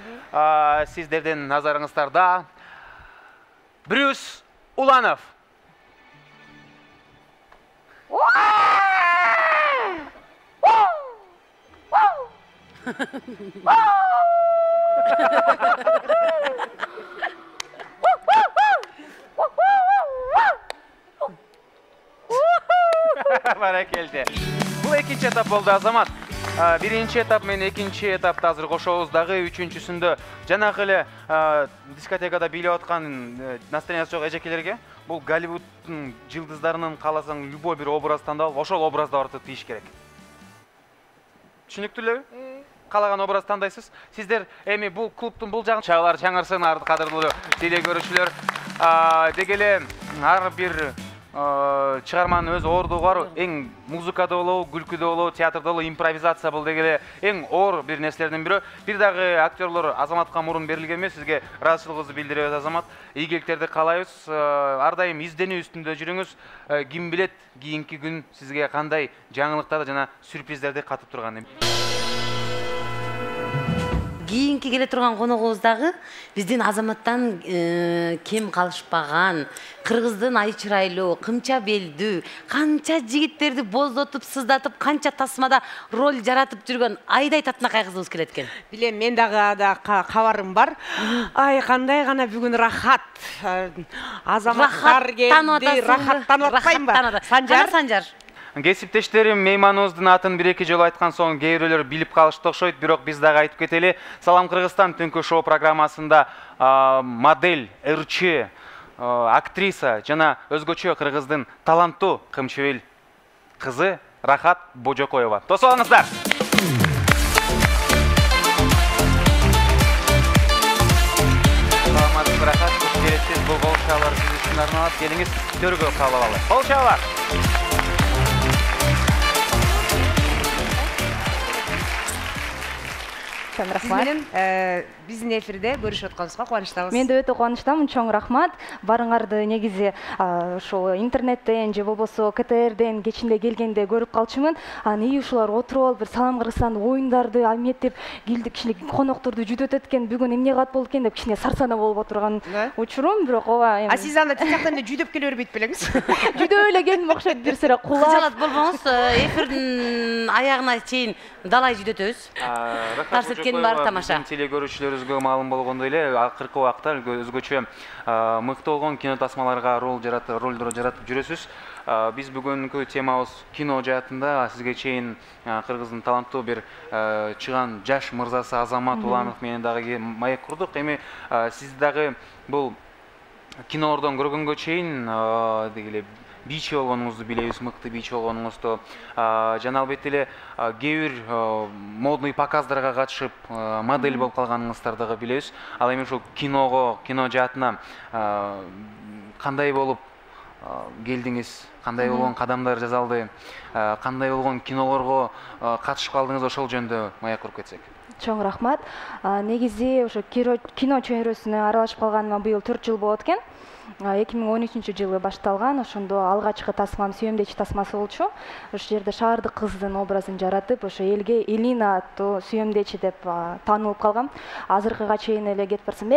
[SPEAKER 1] Сиздердин назарыңыздарда Брюс Уланов. Баракелде. Бул экинчи этап болду, Азамат. Биринчи этап менен экинчи этапты азыр кошобуз. Дагы үчүнчүсүндө жанагы эле дискотекада бийлеп аткан настроениясы жок эжекелерге бул Голливуддун жылдыздарынын кааласаң любой бир образ тандап алып, ошол образда барып тийиш керек. Түшүнүктүү элеби? Каалаган образ тандайсыз. Сиздер эми бул клубтун бул жагын чагалар чаңырсын, кадырлуу телекөрүүчүлөр. Деги эле ар бир чыгарманын өз оордугу бар. Эң музыкада болобу, күлкүдө болобу, театрда болобу, импровизация бул деги эле эң оор бир нерселердин бири. Бир дагы актерлор Азаматка мурун берилген эмес. Сизге ыраазычылыгыбызды билдиребиз, Азамат. Ийгиликтерди каалайбыз. Ар дайым изденүү үстүндө жүрүңүз. Ким билет, кийинки күн сизге кандай жаңылыктарды жана сюрприздерди катып турганын.
[SPEAKER 2] Кийинки келе турган коногубуз дагы биздин Азаматтан кем калышпаган, кыргыздын ай чырайлуу, кымча белдүү, канча жигиттерди боздотуп, сыздатып, канча тасмада роль жаратып жүргөн Айдай Татынакай кызыбыз келет экен.
[SPEAKER 3] Билем, мен дагы кабарым бар. Ай, кандай гана бүгүн рахат. Азаматтар келди, рахаттанып атпайбы?
[SPEAKER 2] Санжар.
[SPEAKER 1] Кесиптештерим, мейманыбыздын атын бир-эки жолу айткан соң кээ бирөөлөр билип калышты окшойт, бирок биз дагы айтып кетели. Салам Кыргызстан түнкү шоу программасында модель, ырчы, актриса жана өзгөчө кыргыздын таланттуу кымчыбел кызы Рахат Божокоева. Тосуп алыңыздар. Саламатсызбы, Рахат? Бересиз бул кол чабуулар сиз үчүн арналат. Келиңиз, төргө кабыл алалы. Кол чабуулар.
[SPEAKER 3] Чоң рахмат. Сиз менен биздин эфирде көрүшүп атканыбызга кубанычтабыз.
[SPEAKER 5] Мен да өтө кубанычтамын. Чоң рахмат. Барыңарды негизи ошо интернеттен же болбосо КТРден кечинде келгенде көрүп калчумун. Анан ушулар отуруп алып бир Салам Кыргызстан оюндарды аметтеп келди, кичине конокторду жүдөтөт экен. Бүгүн эмне кылат болду экен деп кичине сарсана болуп отурган учурум, бирок ооба.
[SPEAKER 3] Сиз анда тияктан эле жүдөп келе бербейт белеңиз?
[SPEAKER 5] Жүдөп эле келдим окшойт, бир сыра кулап.
[SPEAKER 2] Кыжалат болбоңуз, эфирдин аягына чейин далай жүдөтөбүз. Нарсеткенин баары тамаша.
[SPEAKER 1] Теле көрүүчүлөрүбүзгө маалым болгондой эле акыркы убакта өзгөчө мыкты болгон кино тасмаларга ролдор жаратып жүрөсүз. Биз бүгүнкү темабыз кино жаатында сизге чейин Кыргыздын таланттуу бир чыган жаш мырзасы Азамат Уланов менен дагы маек курдук. Эми сиз дагы бул кинолордон көргөнгө чейин дегеле бийчи болгонуңузду билебиз, мыкты бийчи болгонуңузду. Жана албетте эле кээ бир модный показдарга катышып модель болуп калганыңыздарды дагы билебиз. Ал эми ушул киного, кино жаатына кандай болуп келдиңиз, кандай болгон кадамдар жасалды, кандай болгон кинолорго катышып калдыңыз, ошол жөнүндө маек куруп кетсек.
[SPEAKER 5] Чоң рахмат. Негизи ошо кино чөйрөсүнө аралашып калганыма быйыл 4 жыл болот экен. 2013-жылы башталган. Ошондо алгачкы тасмам сүйөмдечи тасмасы болчу. Ошол жерде шаардык кыздын образын жаратып, ошо элге Элина аттуу сүйөмдечи деп таанылып калгам. Азыркыга чейин эле кетип барсам,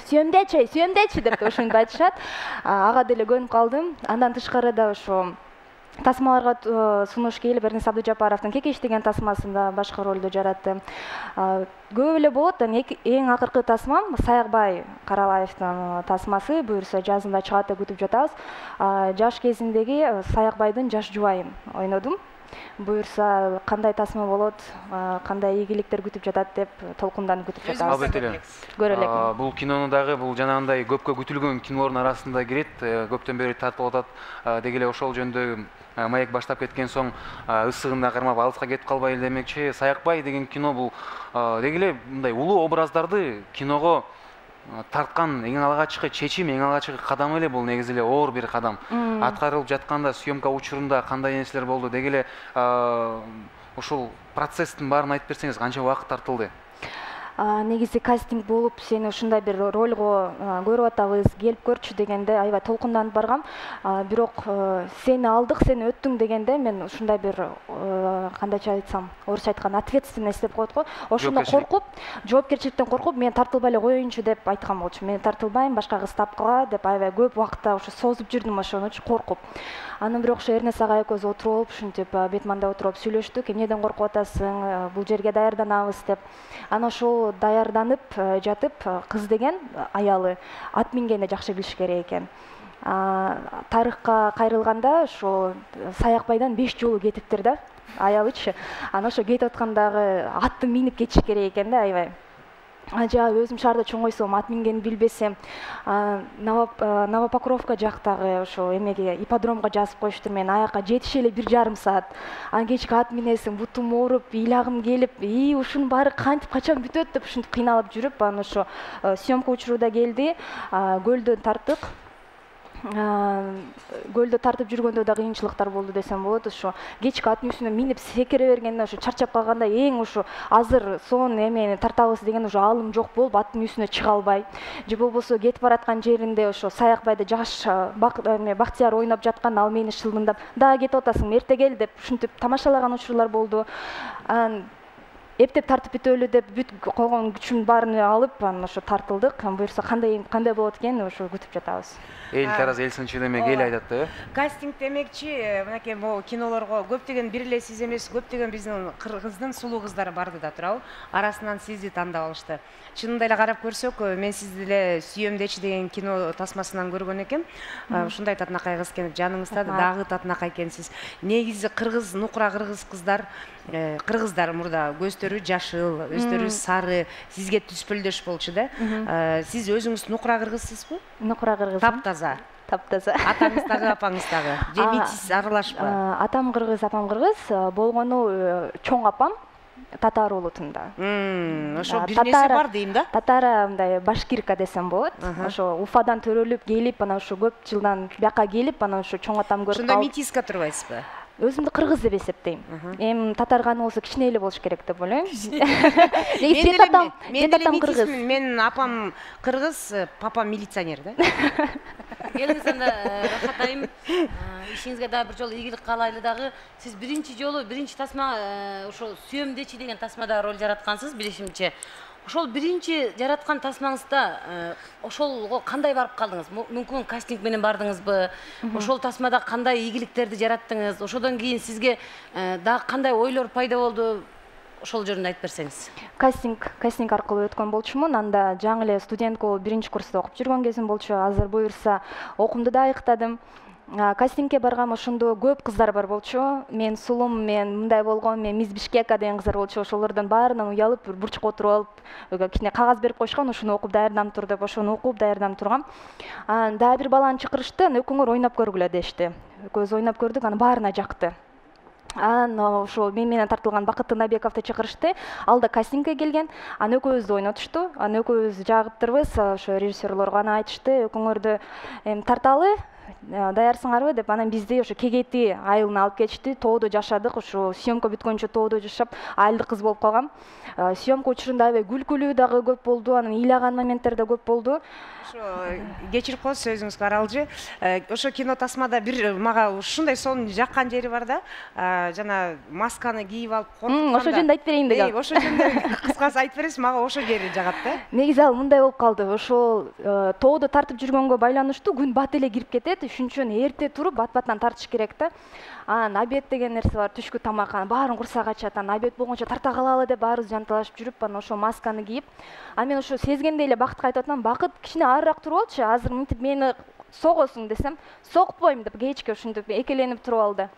[SPEAKER 5] сүйөмдечи деп ошентип айтышат. Ага деле көнүп калдым. Андан тышкары да ошо тасмаларга сунуш келип, Эрнес Абдыжапаровдун Кекеш деген тасмасында башкы ролду жараттым. Көп эле болот. Эң акыркы тасмам Саякбай Каралаевдин тасмасы, буюрса жазында чыгат деп күтүп жатабыз. Жаш кезиндеги Саякбайдын жаш жубайын ойнодум. Буюрса кандай тасма болот, кандай ийгиликтер күтүп жатат деп толкунданып күтүп жатабыз.
[SPEAKER 1] Албетте эле.
[SPEAKER 5] Көрө элекмин.
[SPEAKER 1] Бул кинону дагы бул жанагындай көпкө күтүлгөн кинолордун арасында кирет. Көптөн бери тартылып атат. Дегеле ошол жөнүндө маек баштап кеткен соң ысыгында кармап алыска кетип калбайлы демекчи. Саякбай деген кино бул дегеле мындай улуу образдарды киного тарткан эң алгачкы чечим, эң алгачкы кадам эле бул. Негизи эле оор бир кадам. Аткарылып жатканда съемка учурунда кандай нерселер болду, дегеле ушул процесстин баарын айтып берсеңиз, канча убакыт тартылды?
[SPEAKER 5] Негизи кастинг болуп, сени ушундай бир ролго көрүп атабыз, келип көрчү дегенде аябай толкунданып баргам. Бирок сени алдык, сен өттүң дегенде мен ушундай бир кандайча айтсам, орусча айтканда ответственность деп коет го. Ошондон коркуп, жоопкерчиликтен коркуп, мен тартылбай эле коеюнчу деп айткан болчу. Мен тартылбайм, башка кыз тапкыла деп аябай көп убакытта ошо созуп жүрдүм, ошонучу коркуп. Анан бирок ошо Эрнес ага экөөбүз отуруп алып, ушинтип бетманда отуруп сүйлөштүк. Эмнеден коркуп атасың? Бул жерге даярданабыз деп. Анан ошол даярданып жатып, кыз деген аялы ат мингенди жакшы билиш керек экен. Тарыхка кайрылганда ошо Саякбайдан 5 жолу кетиптир да, аялычы. Анан ошо кетип аткандагы атты минип кетиш керек экен да, аябай. Өзүм шаарда чоңойсом, ат мингенди билбесем, Новопокровка жактагы ошо эмеге ипподромго жазып коюштур, мен аяка жетише эле 1,5 саат. Анан кечки ат минесиң, бутум ооруп, ыйлагым келип, ушунун баары кантип качан бүтөт деп ушинтип кыйналып жүрүп, анан ошо съемка учуру да келди, көлдөн тарттык. Көлдө тартып жүргөндө да кыйынчылыктар болду десем болот. Ошо кечки ат үстүнө минип секире бергенде ошо чарчап калганда эң ошо азыр сон эмени тартабыз деген ошо алым жок болуп аттын үстүнө чыга албай, же болбосо кетип бараткан жеринде ошо Саякбайды жаш Бактияр ойноп жаткан, ал мени шылдыңдап, "Да кетип атасың, эрте кел" деп ушинтип тамашалаган учурлар болду. Эптеп тартып бүтөлү деп бүт койгон күчүмдүн баарын алып, анан ошо тартылдык. Буюрса кандай болот экен, ошо күтүп жатабыз.
[SPEAKER 1] Эл тараз эл сынчы эмек эл айтат да.
[SPEAKER 3] Кастинг демекчи, мынакей могу кинолорго көптөгөн бир эле сиз эмес, көптөгөн биздин Кыргыздын сулуу кыздары барды да турабы. Арасынан сизди тандап алышты. Чынында эле карап көрсөк, мен сизди эле Сүйөмдечи деген кино тасмасынан көргөн экем. Ушундай татынакай кыз экен, жаныңызда дагы татынакай экенсиз. Негизи кыргыз, нукура кыргыз кыздар, кыргыздар мурда көздөрү жашыл, өздөрү сары, сизге түспөлдөш болчу да. Сиз өзүңүз нукура кыргызсызбы?
[SPEAKER 5] Нукура кыргыз.
[SPEAKER 3] Таптаза.
[SPEAKER 5] Таптаза.
[SPEAKER 3] Атаңыз дагы, апаңыз дагы. Же метис аралашпы?
[SPEAKER 5] Атам кыргыз, апам кыргыз. Болгону чоң апам татар улутунда.
[SPEAKER 3] Ошо бир нерсе бар дейм да.
[SPEAKER 5] Татара мындай башкирка десем болот. Ошо Уфадан төрөлүп келип, анан ошо көп жылдан бияка келип, анан ошо чоң атам көрүп
[SPEAKER 3] калып. Ошондо метиска турбайсызбы?
[SPEAKER 5] өзүмдү кыргыз деп эсептейм. Эми татар каны болсо кичине эле болуш керек деп ойлойм. Негизи татам кыргыз.
[SPEAKER 3] Менин апам кыргыз, папам милиционер да.
[SPEAKER 2] Келиңиз анда Рахат айым, ишиңизге дагы бир жолу ийгилик каалайлы дагы. Сиз биринчи тасма ошо сүйөмдечи деген тасмада роль жараткансыз, билишимче. Ошол биринчи жараткан тасмаңызда ошолго кандай барып калдыңыз? Мүмкүн кастинг менен бардыңызбы? Ошол тасмада кандай ийгиликтерди жараттыңыз? Ошодон кийин сизге дагы кандай ойлор пайда болду? Ошол жөнүндө айтып берсеңиз.
[SPEAKER 5] Кастинг аркылуу өткөн болчумун. Анда жаңы эле студент болуп биринчи курста окуп жүргөн кезим болчу. Азыр буюрса окуумду да аныктадым. Кастингке баргам, ошондо көп кыздар бар болчу. Мен сулум, мен мындай болгом, мен Мисс Бишкека деген кыздар болчу. Ошолордон баарынан уялып, бир бурчукка отуруп алып, кичине кагаз берип койушкан, ошону окуп даярданып тур деп, ошону окуп даярданып тургам. Дагы бир баланы чакырышты, экөөңөр ойноп көргүлө дешти. Экөөбүз ойноп көрдүк, анан баарына жакты. Ошо мен менен тартылган Бакыт Набековду чакырышты. Ал да кастингке келген. Аны экөөбүздү ойнотушту. Аны экөөбүз жагыптырбыз. Ошо режиссерлорго аны айтышты. Экөөңөрдү тарталы, даярсыңарбы деп. Анан бизди ошо Кегети айылына алып кетишти. Тоодо жашадык. Ошо съемка бүткөнчө тоодо жашап, айылдык кыз болуп калгам. Съемка учурунда аябай күлкүлүү дагы көп болду. Анан ыйлаган моменттер да көп болду.
[SPEAKER 3] Кечирип коесуз өзүңүзгө, Аралжы. Ошо кино тасмада бир мага ушундай сонун жаккан жери бар да. Жана масканы кийип алып коркутканда.
[SPEAKER 5] Ошо жөнүндө айтып берейин дегем.
[SPEAKER 3] Ошо жөнүндө кыскасы айтып бересиз, мага ошо жери жагат да.
[SPEAKER 5] Негизи ал мындай болуп калды. Ошол тоодо тартып жүргөнгө байланыштуу күн бат эле кирип кетет. Ошон үчүн эрте туруп бат-баттан тартыш керек да. Анан обед деген нерсе бар, түшкү тамак, анан баарын курсак ачат. Анан обед болгончо тарта калалы деп баарыбыз жанталашып жүрүп, анан ошо масканы кийип, мен ошо сезгендей эле Бакытка айтып атам, Бакыт кичине арыраак туруп алчы, азыр мынтип мени согосуң десем, сокпойм деп кечке ушинтип экеленип туруп алды.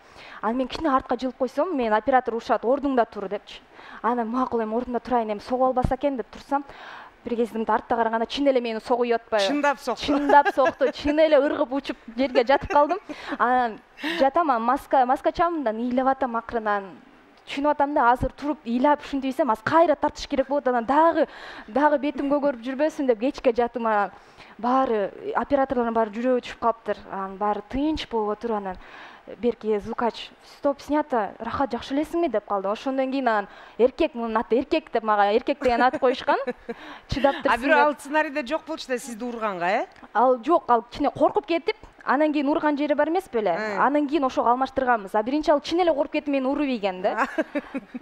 [SPEAKER 5] Анан мен кичине артка жылып койсом, мен оператор урушат, ордуңда тур депчи. Анан макул, эми ордумда турайын, эми согуп албаса экен деп турсам, бир кезимде артта караганда чын эле мени согуп атпайбы?
[SPEAKER 3] Чындап сокту.
[SPEAKER 5] Чындап сокту. Чын эле ыргып учуп жерге жатып калдым. Анан жатам, маска чамымдан ыйлап атам акырынан. Түшүнүп атам да, азыр туруп ыйлап ушинтип ийсем, аз кайра тартыш керек болот. Анан дагы бетим көгөрүп жүрбөсүн деп кечке жатым. Анан баары операторлордун баары жүрөгү түшүп калыптыр. Анан баары тынч болуп отур. Анан берки звукач стоп снято, Рахат жакшы элесиңби деп калды. Ошондон кийин анан эркек, мунун аты эркек деп мага эркек деген ат коюшкан. Чыдап турсун.
[SPEAKER 3] Бирок ал сценарийде жок болчу да сизди урганга,
[SPEAKER 5] Ал жок, ал кичине коркуп кетип, анан кийин урган жери бар эмес беле? Анан кийин ошого алмаштырганбыз. Биринчи ал чын эле коркуп кетип мени уруп ийген да.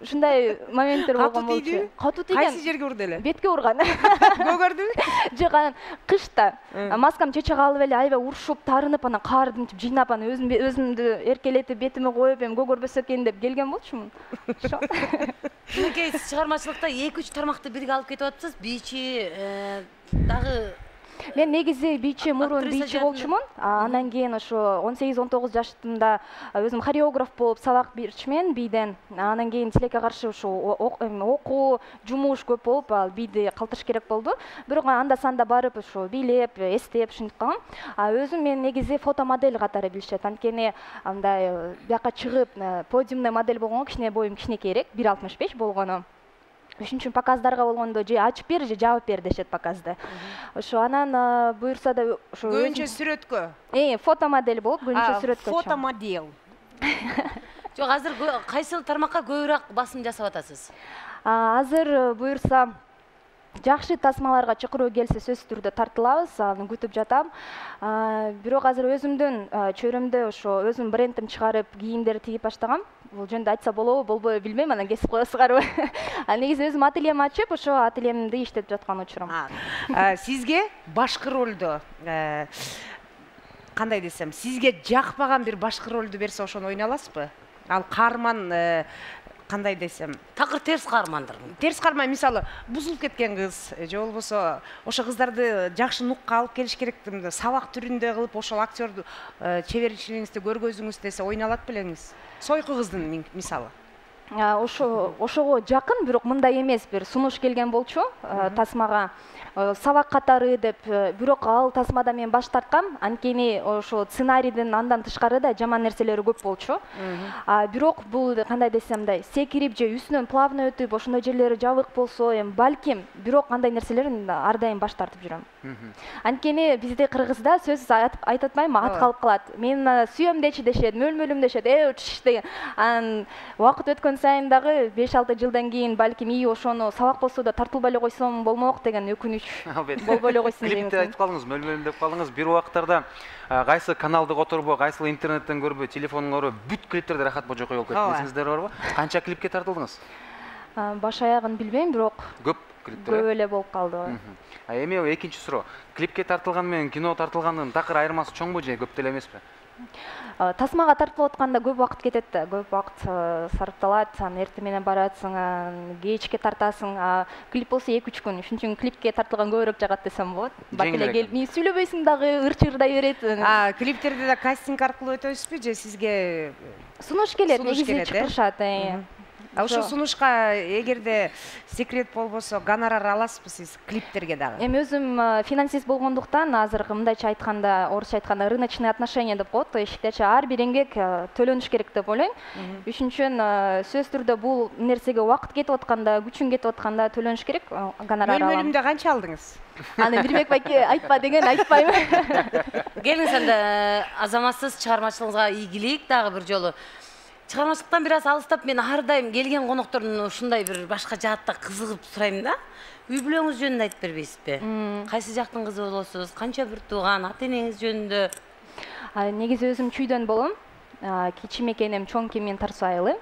[SPEAKER 5] Ушундай моменттер болгон болчу.
[SPEAKER 3] Катуу тийген? Кайсы жерге урду эле?
[SPEAKER 5] Бетке урган.
[SPEAKER 3] Көгөрдүбү?
[SPEAKER 5] Жок, анан кышта маскам чече калып эле аябай урушуп, тарынып, анан каарды мынтип жыйнап, анан өзүмдү эркелетип, бетиме коюп, эми көгөрбөсө экен деп келген болчумун. Ошо.
[SPEAKER 2] Мынакей, сиз чыгармачылыкта 2-3 тармакты бирге алып кетип атасыз. Бийчи дагы
[SPEAKER 5] Мен негизи бийчи, мурун бийчи болчумун. Андан кийин ошо 18-19 жаштымда өзүм хореограф болуп сабак берчүмүн бийден. Андан кийин тилекке каршы ошо окуу, жумуш көп болуп, ал бийди калтырыш керек болду. Бирок анда санда барып ошо бийлеп, эстеп ушинтип калгам. Өзүм мен негизи фотомодель катары билишет. Анткени андай бияка чыгып подиумный модель болгонго кичине боюм кичинекейирээк, 1.65 болгону. Ошон үчүн показдарга болгондо же ачып бер, же жабып бер дешет показды. Ошо анан буюрса да ошо
[SPEAKER 3] көбүнчө сүрөткө.
[SPEAKER 5] Фотомодель болуп, көбүнчө сүрөткө.
[SPEAKER 3] Фотомодель.
[SPEAKER 2] Жок, азыр кайсыл тармакка көбүрөөк басым жасап атасыз?
[SPEAKER 5] Азыр буюрса жакшы тасмаларга чакыруу келсе сөзсүз түрдө тартылабыз, аны күтүп жатам. Бирок азыр өзүмдүн чөйрөмдө ошо өзүм брендим чыгарып, кийимдер тигип баштагам. Бул жөнүндө айтса болобу, болбойбу билбейм, анан кесип коесуңарбы. Негизи өзүм ательем ачып, ошо ательемди иштетип жаткан учурум.
[SPEAKER 3] Сизге башкы ролдо кандай десем, сизге жакпаган бир башкы ролду берсе ошону ойнай аласызбы? Ал каарман кандай десем,
[SPEAKER 2] такыр терс каармандыр.
[SPEAKER 3] Терс каарман, мисалы, бузулуп кеткен кыз, же болбосо ошо кыздарды жакшы нукка алып келиш керек, сабак түрүндө кылып ошол актёрду чеберчилигиңизди көргөзүңүз десе ойнай алат белеңиз? Сойку кыздын мисалы.
[SPEAKER 5] Ошого жакын, бирок мындай эмес, бир сунуш келген болчу тасмага. Сабак катары деп, бирок ал тасмада мен баш тарткам, анткени ошо сценарийдин андан тышкары да жаман нерселери көп болчу. Бирок бул кандай десем мындай, секирип же үстүнөн плавно өтүп, ошондой жерлери жабык болсо, эми балким, бирок андай нерселерден ар дайым баш тартып жүрөм. Анткени бизде Кыргызда сөз айтып атпайбы, ат калып калат. Мен сүйөм дешет, мөлмөлүм дешет, деген. Анан убакыт өткөн сайын дагы 5-6 жылдан кийин балким ошону сабак болсо да тартылбай эле койсом болмок деген өкүнүч болбой эле койсун деген.
[SPEAKER 1] Клипте айтып калдыңыз, мөлмөлүм деп калдыңыз. Бир убактарда кайсы каналды которбой, кайсы интернеттен көрбөй, телефонун көрбөй, бүт клиптерде Рахат Божокой болуп кетти. Эсиңизде барбы? Канча клипке тартылдыңыз?
[SPEAKER 5] Баш аягын билбейм, бирок
[SPEAKER 1] Көп клиптер.
[SPEAKER 5] Көп эле болуп калды.
[SPEAKER 1] Эми экинчи суроо. Клипке тартылган менен кино тартылгандын такыр айырмасы чоңбу же көп деле эмеспи?
[SPEAKER 5] Тасмага тартылып атканда көп убакыт кетет да, көп убакыт сарпталат, анан эртең менен барасың, кечке тартасың. Клип болсо 2-3 күн. Ошон үчүн клипке тартылган көбүрөөк жагат десем болот. Бак эле келип, мен сүйлөбөйсүң дагы, ырчырдай берет.
[SPEAKER 3] Клиптерде да кастинг аркылуу өтөбүзбү же сизге
[SPEAKER 5] сунуш келет, негизи чакырышат.
[SPEAKER 3] Ошо сунушка эгерде секрет болбосо гонорар аласызбы сиз клиптерге дагы?
[SPEAKER 5] Эми өзүм финансист болгондуктан азыр мындайча айтканда, орусча айтканда рыночный отношения деп коет. Эшиктерчи ар бир эмгек төлөнүш керек деп ойлойм. Ошон үчүн сөзсүз түрдө бул нерсеге убакыт кетип атканда, күчүң кетип атканда төлөнүш керек. Гонорар алам.
[SPEAKER 3] Мөлмөлүмдө канча алдыңыз?
[SPEAKER 5] Аны Бирбек байке айтпа деген айтпайм.
[SPEAKER 2] Келиңиз анда азаматсыз чыгармачылыгыңызга ийгилик дагы бир жолу. Чыгармачылыктан бир аз алыстап, мен ар дайым келген коноктордун ушундай бир башка жаатта кызыгып сурайм да. Үй бүлөңүз жөнүндө айтып бербейсизби? Кайсы жактын кызы болосуз? Канча бир тууган, ата-энеңиз жөнүндө?
[SPEAKER 5] Негизи өзүм чүйдөн болом. Кичим экеним, чоң мен Тарсу айылы.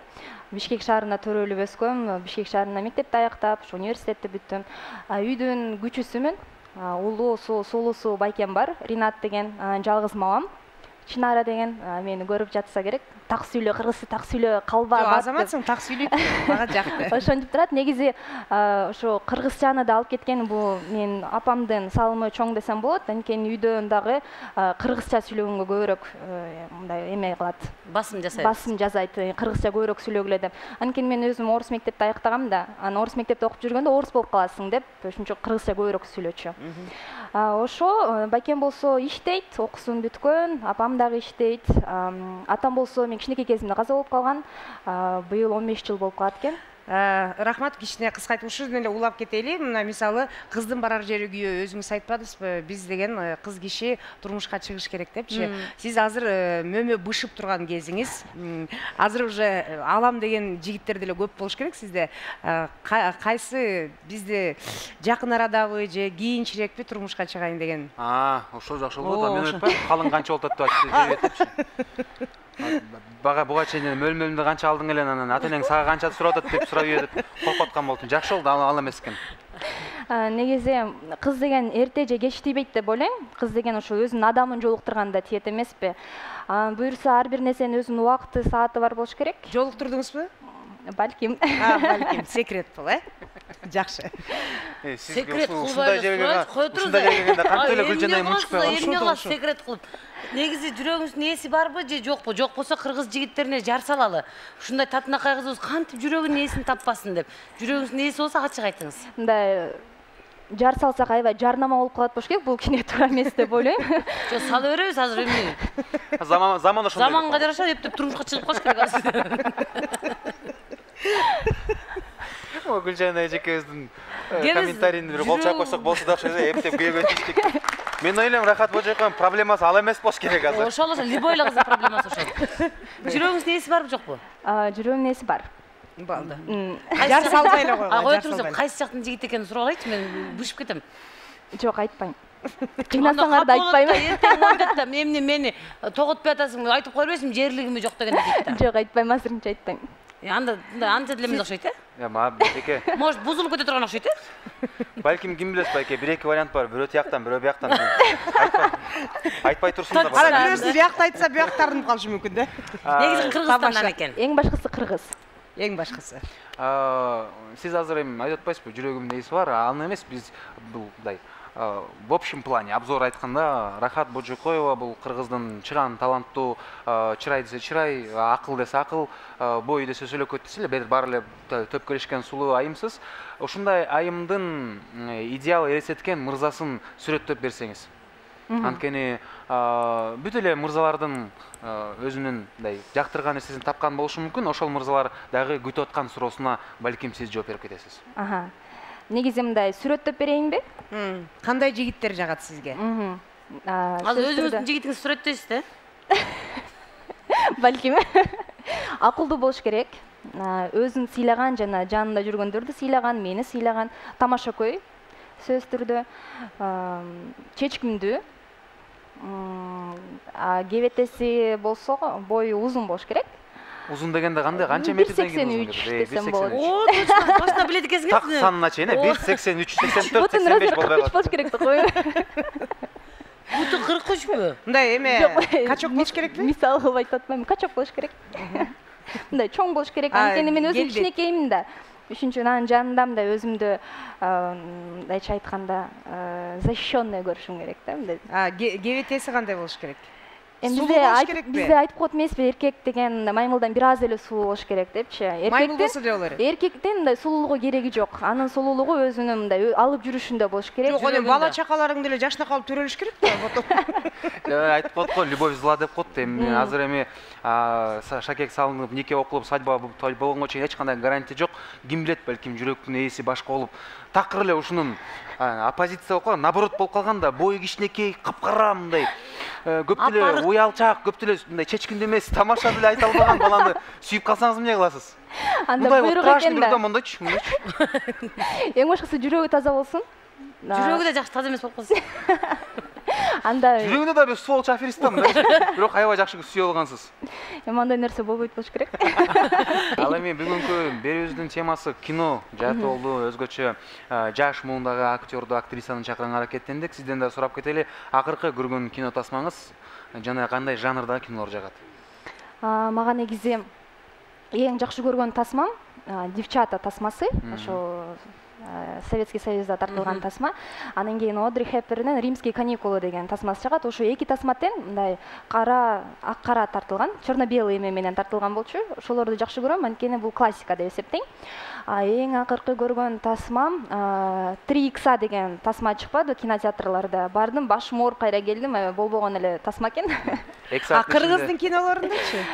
[SPEAKER 5] Бишкек шаарында төрөлүп өскөм. Бишкек шаарында мектепти аяктап, университетти бүттүм. Үйдүн күчүсүмүн. Улуусу, сулуусу байкем бар, Ринат деген, жалгыз мамам. Чынара деген мени көрүп жатса керек. Так сүйлө, кыргызча так сүйлө, калба.
[SPEAKER 3] Азаматсың, так сүйлөйт. Мага жакты.
[SPEAKER 5] Ошентип турат. Негизи ошо кыргызчаны да алып кеткен бул мен апамдын салымы чоң десем болот. Анткени үйдөн дагы кыргызча сүйлөгөнгө көбүрөөк мындай эме кылат.
[SPEAKER 2] Басым жасайт.
[SPEAKER 5] Басым жасайт. Кыргызча көбүрөөк сүйлөгүлө деп. Анткени мен өзүм орус мектепти аяктагам да. Анан орус мектепте окуп жүргөндө орус болуп каласың деп, ошон үчүн кыргызча көбүрөөк сүйлөчү. Ошо байкем болсо иштейт, окуусун бүткөн, апам дагы иштейт. Атам болсо мен кичинекей кезимде каза болуп калган. Быйыл 15 жыл болуп калат экен.
[SPEAKER 3] Рахмат, кичине кыскайтып ушуну эле улап кетели. Мына мисалы кыздын барар жери күйөө, өзүңүз айтпадыңызбы? Биз деген кыз киши турмушка чыгыш керек депчи. Сиз азыр мөмө бышып турган кезиңиз. Азыр уже алам деген жигиттер деле көп болуш керек сизде. Кайсы бизде жакын арадабы же кийинчирээкпи турмушка чыгайын деген?
[SPEAKER 1] Ошо жакшы болот. Мен айтпайм, калың канча болот деп айтып Бага буга чейин мөлмөлүмдө канча алдың эле, анан ата-энең сага канча сурап атат деп сурап ийет. Коркуткан болдум. Жакшы болду, ал эмес экен.
[SPEAKER 5] Негизи кыз деген эрте же кеч тийбейт деп ойлойм. Кыз деген ошо өзүнүн адамын жолуктурганда тиет эмеспи? Буюрса ар бир нерсенин өзүнүн убакыты, сааты бар болуш керек.
[SPEAKER 3] Жолуктурдуңузбу?
[SPEAKER 5] Балким.
[SPEAKER 3] Балким, секрет бул, Жакшы.
[SPEAKER 2] Секрет кылбай кой туруңуз.
[SPEAKER 1] Кантип эле Гүлжанай мунчукпай
[SPEAKER 2] калды? Секрет кылып. Негизи жүрөгүңүздүн ээси барбы же жокпу? Жок болсо кыргыз жигиттерине жар салалы. Ушундай татынакай кызыбыз кантип жүрөгүнүн ээсин таппасын деп. Жүрөгүңүздүн ээси болсо ачык айтыңыз.
[SPEAKER 5] Мындай жар салсак аябай жарнама болуп калат болуш керек. Бул кине туура эмес деп ойлойм.
[SPEAKER 2] Жок, сала беребиз азыр эмне?
[SPEAKER 1] Заман ошондой.
[SPEAKER 2] Заманга жараша эптеп турмушка чыгып калыш керек азыр.
[SPEAKER 1] Гүлжанай эжекебиздин комментарийине бир кол чаап койсок болсо да окшойт, эптеп күйөгө түштүк. Мен ойлойм, Рахат Божокойдун проблемасы ал эмес болуш керек азыр.
[SPEAKER 2] Ошол эле любой эле кыздын проблемасы ошол. Жүрөгүңүздүн ээси барбы жокпу?
[SPEAKER 5] Жүрөгүмдүн ээси бар.
[SPEAKER 2] Балды.
[SPEAKER 3] Жар салбай эле койгон.
[SPEAKER 2] Кой туруңуз, кайсы жактын жигит экенин сурап алайчы, мен бышып кетем.
[SPEAKER 5] Жок, айтпайм. Кыйнасаңар да айтпайм.
[SPEAKER 2] Эртең ойлойт да, эмне тоготпой атасың, айтып кое бербейсиңби, жерлигими жок деген дейт да.
[SPEAKER 5] Жок, айтпайм, азырынча айтпайм.
[SPEAKER 2] Анда анча деле эмес окшойт,
[SPEAKER 1] Байке.
[SPEAKER 2] Может, бузулуп кете турган окшойт,
[SPEAKER 1] Балким ким билет, Байке, бир-эки вариант бар. Бирөө тияктан, бирөө бияктан. Айтпай турсун да.
[SPEAKER 3] Ана бирөөсү биякта айтса, бияк тартынып калышы мүмкүн да.
[SPEAKER 2] Негизи Кыргызстандан экен.
[SPEAKER 5] Эң башкысы кыргыз.
[SPEAKER 3] Эң башкысы.
[SPEAKER 1] Сиз азыр эми айтып атпайсызбы, жүрөгүмдө ээси бар, аны эмес, биз бул мындай в общем плане обзор айтканда Рахат Божокоева бул кыргыздын чыган таланттуу, чырай десе чырай, акыл десе акыл, бой десе сөйлөкөт десе эле баары эле төпкөлөшкөн сулуу айымсыз. Ушундай айымдын идеал элестеткен мырзасын сүрөттөп берсеңиз. Анткени бүт эле мырзалардын өзүнүн мындай жактырган нерсесин тапкан болушу мүмкүн. Ошол мырзалар дагы күтүп аткан суроосуна балким сиз жооп берип кетесиз.
[SPEAKER 5] негизи мындай сүрөттөп берейинби?
[SPEAKER 3] Кандай жигиттер жагат сизге?
[SPEAKER 2] Азыр өзүңүздүн жигитиңизди сүрөттөйсүз да?
[SPEAKER 5] Балким. Акылдуу болуш керек. Өзүн сыйлаган жана жанында жүргөндөрдү сыйлаган, мени сыйлаган, тамашакөй сөз түрдө, чечкимдүү. Кебетеси болсо бою узун болуш керек.
[SPEAKER 1] Узун дегенде кандай, канча метрден кийин узун
[SPEAKER 5] келет? 183 десем болот.
[SPEAKER 2] О, точно, точно билет экенсиңиз.
[SPEAKER 1] Так санына чейин 183, 84, 85 болбой калат.
[SPEAKER 5] болуш керек да кой.
[SPEAKER 2] Буту 43бү?
[SPEAKER 3] Мындай эме качок болуш керекпи?
[SPEAKER 5] Мисал кылып айтып атпаймынбы? Качок болуш керек. Мындай чоң болуш керек. Анткени мен өзүм кичинекеймин да. Үчүнчү анын жанында мындай өзүмдү мындайча айтканда защищенный көрүшүм керек да мындай.
[SPEAKER 3] Кебетеси кандай болуш керек?
[SPEAKER 5] Бизде айтып коет эмеспи, эркек деген маймылдан бир аз эле сулуу болуш керек депчи.
[SPEAKER 3] Маймыл болсо деле болор.
[SPEAKER 5] Эркектен мындай сулуулугу кереги жок. Анын сулуулугу өзүнүн мындай алып жүрүшүндө болуш керек.
[SPEAKER 3] Жок, эми бала чакаларың деле жашына калып төрөлүш керек да.
[SPEAKER 1] Айтып коет го, любовь зла деп коет. Эми азыр эми шакек салынып, нике окулуп, свадьба той болгонго чейин эч кандай гарантия жок. Ким билет, балким жүрөктүн ээси башка болуп, такыр эле ушунун оппозиция болуп калган, наоборот болуп калган да, бою кичинекей, капкара мындай көп деле уялчак, көп деле мындай чечкиндүү эмес, тамаша деле айта албаган баланы сүйүп калсаңыз эмне кыласыз?
[SPEAKER 5] Анда буйрук экен да.
[SPEAKER 1] Мындайчы.
[SPEAKER 5] Эң башкысы жүрөгү таза болсун.
[SPEAKER 2] Жүрөгү да жакшы таза эмес болуп калсын.
[SPEAKER 5] Анда
[SPEAKER 1] жүрөгүндө да бир сволочь аферист да мындай. Бирок аябай жакшы сүйө алгансыз.
[SPEAKER 5] Эми андай нерсе болбойт болуш керек.
[SPEAKER 1] Ал эми бүгүнкү берүүбүздүн темасы кино жааты болду. Өзгөчө жаш муундагы актёрду, актрисаны чакырганга аракеттендик. Сизден да сурап кетели. Акыркы көргөн кино тасмаңыз жана кандай жанрдагы кинолор жагат?
[SPEAKER 5] Мага негизи эң жакшы көргөн тасмам Девчата тасмасы. Ошо Советский Союзда тартылган тасма. Андан кийин Одри Хепберндин Римские каникулы деген тасмасы чыгат. Ошо эки тасма тең мындай ак кара тартылган, черно-белый эме менен тартылган болчу. Ошолорду жакшы көрөм, анткени бул классика деп эсептейм. Эң акыркы көргөн тасмам 3X деген тасма чыкпады кинотеатрларда. Бардым, башым ооруп кайра келдим, болбогон эле тасма экен.
[SPEAKER 3] Кыргыздын кинолорундачы?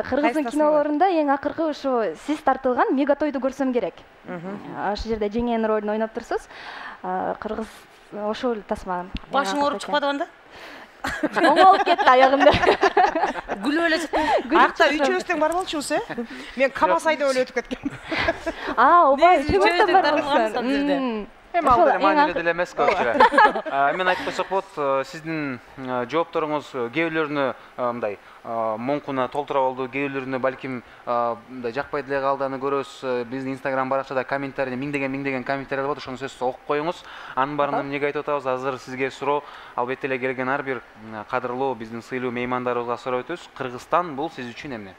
[SPEAKER 5] Кыргыздын кинолорунда эң акыркы ошо сиз тартылган Мегатойду көрсөм керек. Ошол жерде жеңен ролун ойноп турсуз. Кыргыз ошол тасма.
[SPEAKER 2] Башың ооруп чыкпадыбы анда?
[SPEAKER 5] Оңолуп кетти аягымда.
[SPEAKER 2] Күлүп эле чыктым.
[SPEAKER 3] Акта үчөөбүз тең бар болчубуз, Мен Камас айдап эле өтүп кеткем.
[SPEAKER 5] Ооба, үчөөбүз тең бар болсун.
[SPEAKER 1] Эми ал деле маанилүү деле эмес көпчүлүк. Мен айтып койсок болот, сиздин жоопторуңуз кээ бирлөрүнө мындай моңкуна толтура болду, кээ бирлөрүнө балким мындай жакпай деле калды, аны көрөбүз. Биздин Instagram баракчада комментарий миңдеген комментарийлер болот, ошону сөзсүз окуп коюңуз. Анын баарын эмнеге айтып атабыз? Азыр сизге суроо, албетте эле келген ар бир кадырлуу биздин сыйлуу меймандарыбызга сурап өтөбүз. Кыргызстан бул сиз үчүн эмне?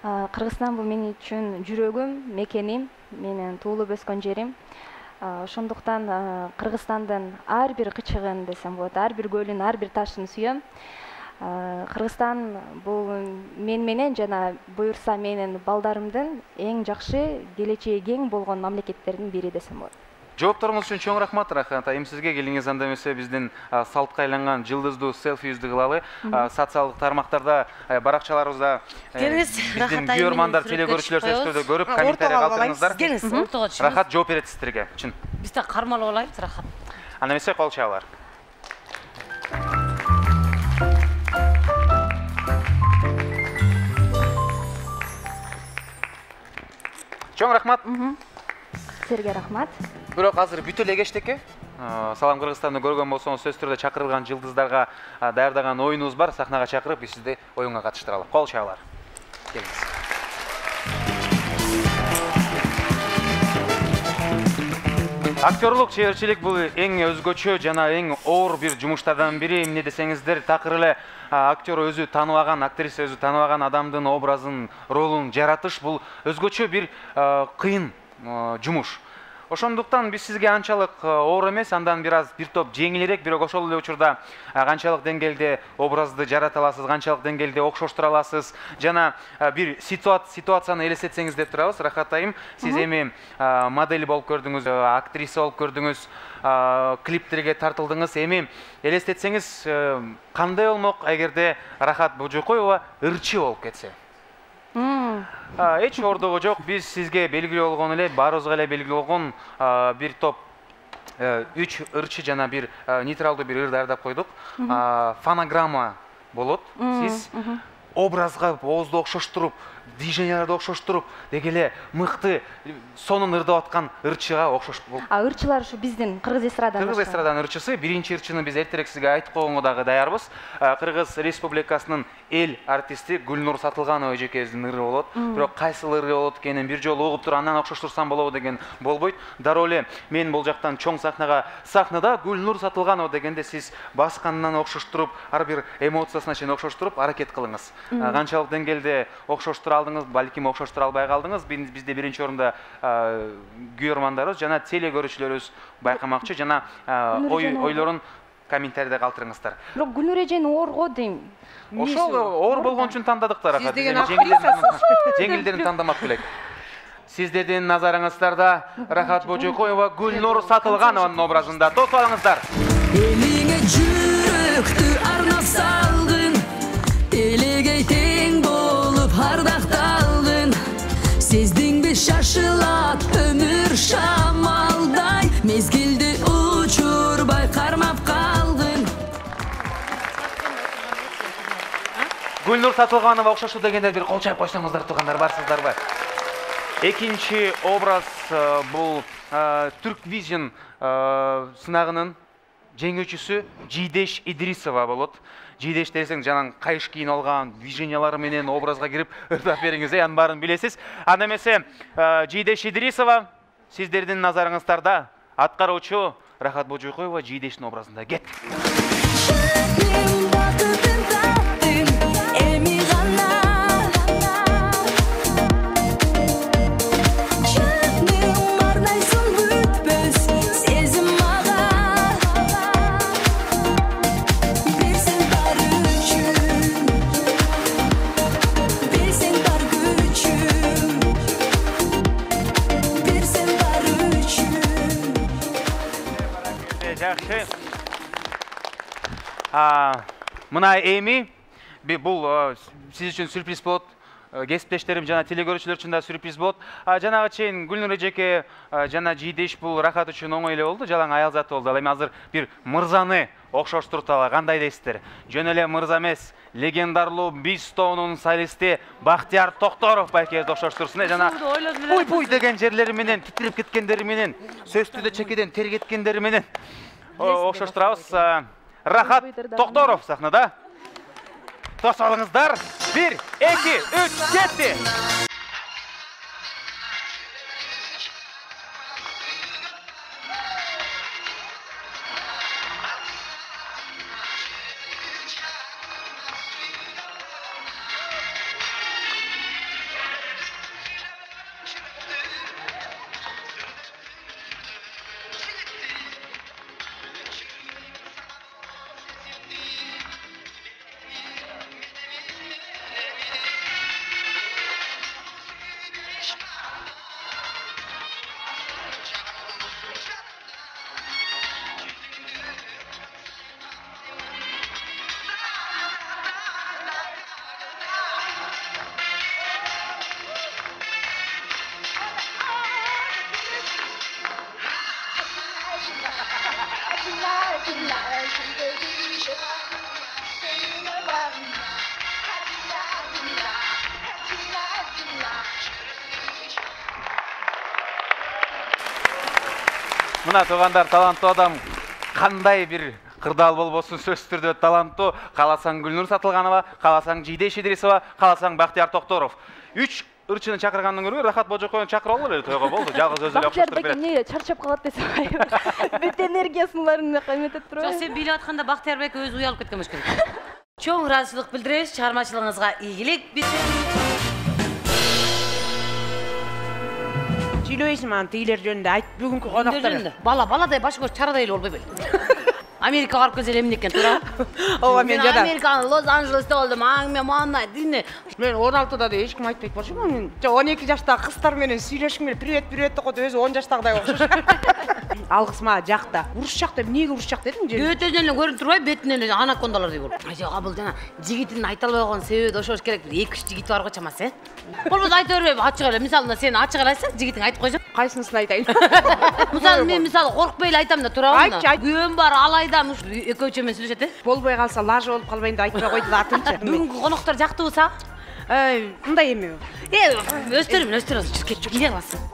[SPEAKER 5] Кыргызстан бул мен үчүн жүрөгүм, мекеним, менин туулуп өскөн жерим. Ошондуктан Кыргызстандын ар бир кычыгын десем болот, ар бир көлүн, ар бир ташын сүйөм. Кыргызстан бул мен менен жана буюрса менин балдарымдын эң жакшы келечеги кең болгон мамлекеттердин бири десем болот.
[SPEAKER 1] Жоопторуңуз үчүн чоң рахмат, Рахат айым сизге. Келиңиз анда эмесе биздин салтка айланган жылдыздуу селфибизди кылалы. Социалдык тармактарда, баракчаларыбызда биздин күйөрмандар, телекөрүүчүлөр сөзсүздө көрүп, комментарий калтырыңыздар.
[SPEAKER 2] Келиңиз, ортого түшүңүз.
[SPEAKER 1] Рахат жооп берет сиздерге, чын.
[SPEAKER 2] Биз да кармалып алайбыз, Рахат.
[SPEAKER 1] Анда эмесе кол чабалар. Чоң рахмат.
[SPEAKER 5] Сизерге рахмат.
[SPEAKER 1] Бирок азыр бүтө эле кечтеке. Салам Кыргызстанды көргөн болсоңуз сөз түрдө чакырылган жылдыздарга даярдаган оюнубуз бар. Сахнага чакырып, биз сизди оюнга катыштыралы. Кол чабалар. Келиңиз. Актерлук чеберчилик бул эң өзгөчө жана эң оор бир жумуштардан бири. Эмне десеңиздер, такыр эле актер өзү тааныбаган, актриса өзү тааныбаган адамдын образын, ролун жаратыш бул өзгөчө бир кыйын жумуш. Ошондуктан биз сизге анчалык оор эмес, андан бир топ жеңилирээк, бирок ошол эле учурда канчалык деңгээлде образды жарата аласыз, канчалык деңгээлде окшоштура аласыз, жана бир ситуацияны элестетсеңиз деп турабыз. Рахат айым, сиз эми модель болуп көрдүңүз, актриса болуп көрдүңүз, клиптерге тартылдыңыз. Эми элестетсеңиз кандай болмок эгерде Рахат Божокоева ырчы болуп кетсе? Эч ордугу жок. Биз сизге белгилүү болгон эле, баарыбызга эле белгилүү болгон бир топ 3 ырчы жана бир нейтралдуу бир ыр даярдап койдук. Фонограмма болот. Сиз образга оозду окшоштуруп, движенияларды окшоштуруп, деги эле мыкты сонун ырдап аткан ырчыга окшош болуп.
[SPEAKER 5] Ырчылар ушу биздин Кыргыз эстраданын.
[SPEAKER 1] Кыргыз эстраданын ырчысы. Биринчи ырчыны биз эртерээк сизге айтып койгонго дагы даярбыз. Кыргыз Республикасынын эл артисти Гүлнур Сатылганова эжекебиздин ыры болот. Бирок кайсыл ыры болот экенин бир жолу угуп туруп андан окшоштурсам болобу деген болбойт. Дароо эле мен бул жактан чоң сахнада Гүлнур Сатылганова дегенде сиз баскандан окшоштуруп, ар бир эмоциясына чейин окшоштуруп аракет кылыңыз. Канчалык деңгээлде окшоштура алдыңыз, балким окшоштура албай калдыңыз. Бизде биринчи орунда көрөрмандарыбыз жана теле көрүүчүлөрүбүз байкамакчы, жана ойлорун комментарийде калтырыңыздар.
[SPEAKER 5] Бирок Гүлнур эжени оорго дейм.
[SPEAKER 1] Ошол оор болгон үчүн тандадыктар.
[SPEAKER 3] Сиз деген актрисасыз.
[SPEAKER 1] Жеңилдерин тандамак белек. Сиздердин назарыңыздарда Рахат Божокоева Гүлнур Сатылганованын образында тосуп алыңыздар.
[SPEAKER 6] Элиңе жүрөктү арнап салгын, элегей тең болуп ардакталгын. Сездиңби шашылат өмүр шамалдай, мезгилди учурбай кармап калгын.
[SPEAKER 1] Гүлнур Сатылганова окшошу дегенде бир кол чайып койсоңуздар туугандар, барсыздарбы? Экинчи образ бул Türk Vision сынагынын жеңүүчүсү Жидеш Идрисова болот. Жидеш десең жанан кайыш кийин алган движениялары менен образга кирип ырдап бериңиз, анын баарын билесиз. Анда эмесе Жидеш Идрисова сиздердин назарыңыздарда аткаруучу Рахат Божокоева Жидештин образында кет. Мына эми бул сиз үчүн сюрприз болот. Кесиптештерим жана телекөрүүчүлөр үчүн да сюрприз болот. Жанагы чейин Гүлнур эжеке жана Жидеш бул Рахат үчүн оңой эле болду, жалаң аял заты болду. Ал эми азыр бир мырзаны окшоштурталы. Кандай дейсиздер? Жөн эле мырза эмес, легендарлуу биз тобунун солисти Бактияр Токторов байкебизди окшоштурсун. Жана буй деген жерлери менен, титирип кеткендери менен, сөздүдө чекеден тер кеткендери менен окшоштурабыз. Рахат Токторов сахнада. Тосуп алыңыздар. 1, 2, 3, кетти. Мына туугандар, таланттуу адам кандай бир кырдаал болбосун сөзсүз түрдө таланттуу. Кааласаң Гүлнур Сатылганова, кааласаң Жидеш Идрисова, кааласаң Бактияр Токторов. 3 ырчыны чакыргандан көрө Рахат Божокоевну чакырып алгыла эле тойго болду. Жалгыз өзү эле окшоштуруп берет.
[SPEAKER 5] Эмне чарчап калат десем, бүт энергиясын баарын эметип туруп.
[SPEAKER 2] Жок, сен бийлеп атканда Бактияр байке өзү уялып кеткен болуш керек. Чоң ыраазычылык билдиребиз, чыгармачылыгыңызга ийгилик.
[SPEAKER 3] Сүйлөйсүң аны тейлер жөнүндө айт, бүгүнкү конактар.
[SPEAKER 2] Баладай баш көз чарадай эле болбой беле. Америкага барып келсе эмне экен, туура?
[SPEAKER 3] Ооба, мен жада.
[SPEAKER 2] Американын Лос-Анджелесте болдум. Мен мындай дине.
[SPEAKER 3] Мен 16да да эч ким айтпайт болчумун. Мен 12 жаштагы кыздар менен сүйлөшкүм келип, привет деп койду, өзү 10 жаштагыдай окшош. Алгыс мага жакта. Урушчак деп эмнеге урушчак дедиң же?
[SPEAKER 2] Бөтөнөн эле көрүнүп турбайбы? Бетинен эле анакондалардай болуп. Жок, бул жана жигитин айта албай койгон себеби ошол керек. 2-3 жигит бар го чамасы, Болбосо айта бербейби, ачык эле. Мисалы, сен ачык эле айтсаң, жигитиң айтып койсоң.
[SPEAKER 3] Кайсынысын айтайын?
[SPEAKER 2] Мисалы, мен коркпой эле айтам да турабы?
[SPEAKER 3] Айтчы.
[SPEAKER 2] Күйөөм бар, алайдам, экөөчө менен сүйлөшөт,
[SPEAKER 3] Болбой калса лажа болуп калбайын деп айтпай койду да атынчы.
[SPEAKER 2] Бүгүнкү коноктор жактыбы сага?
[SPEAKER 3] Мындай эме.
[SPEAKER 2] Өстөрүм, кетип аласың.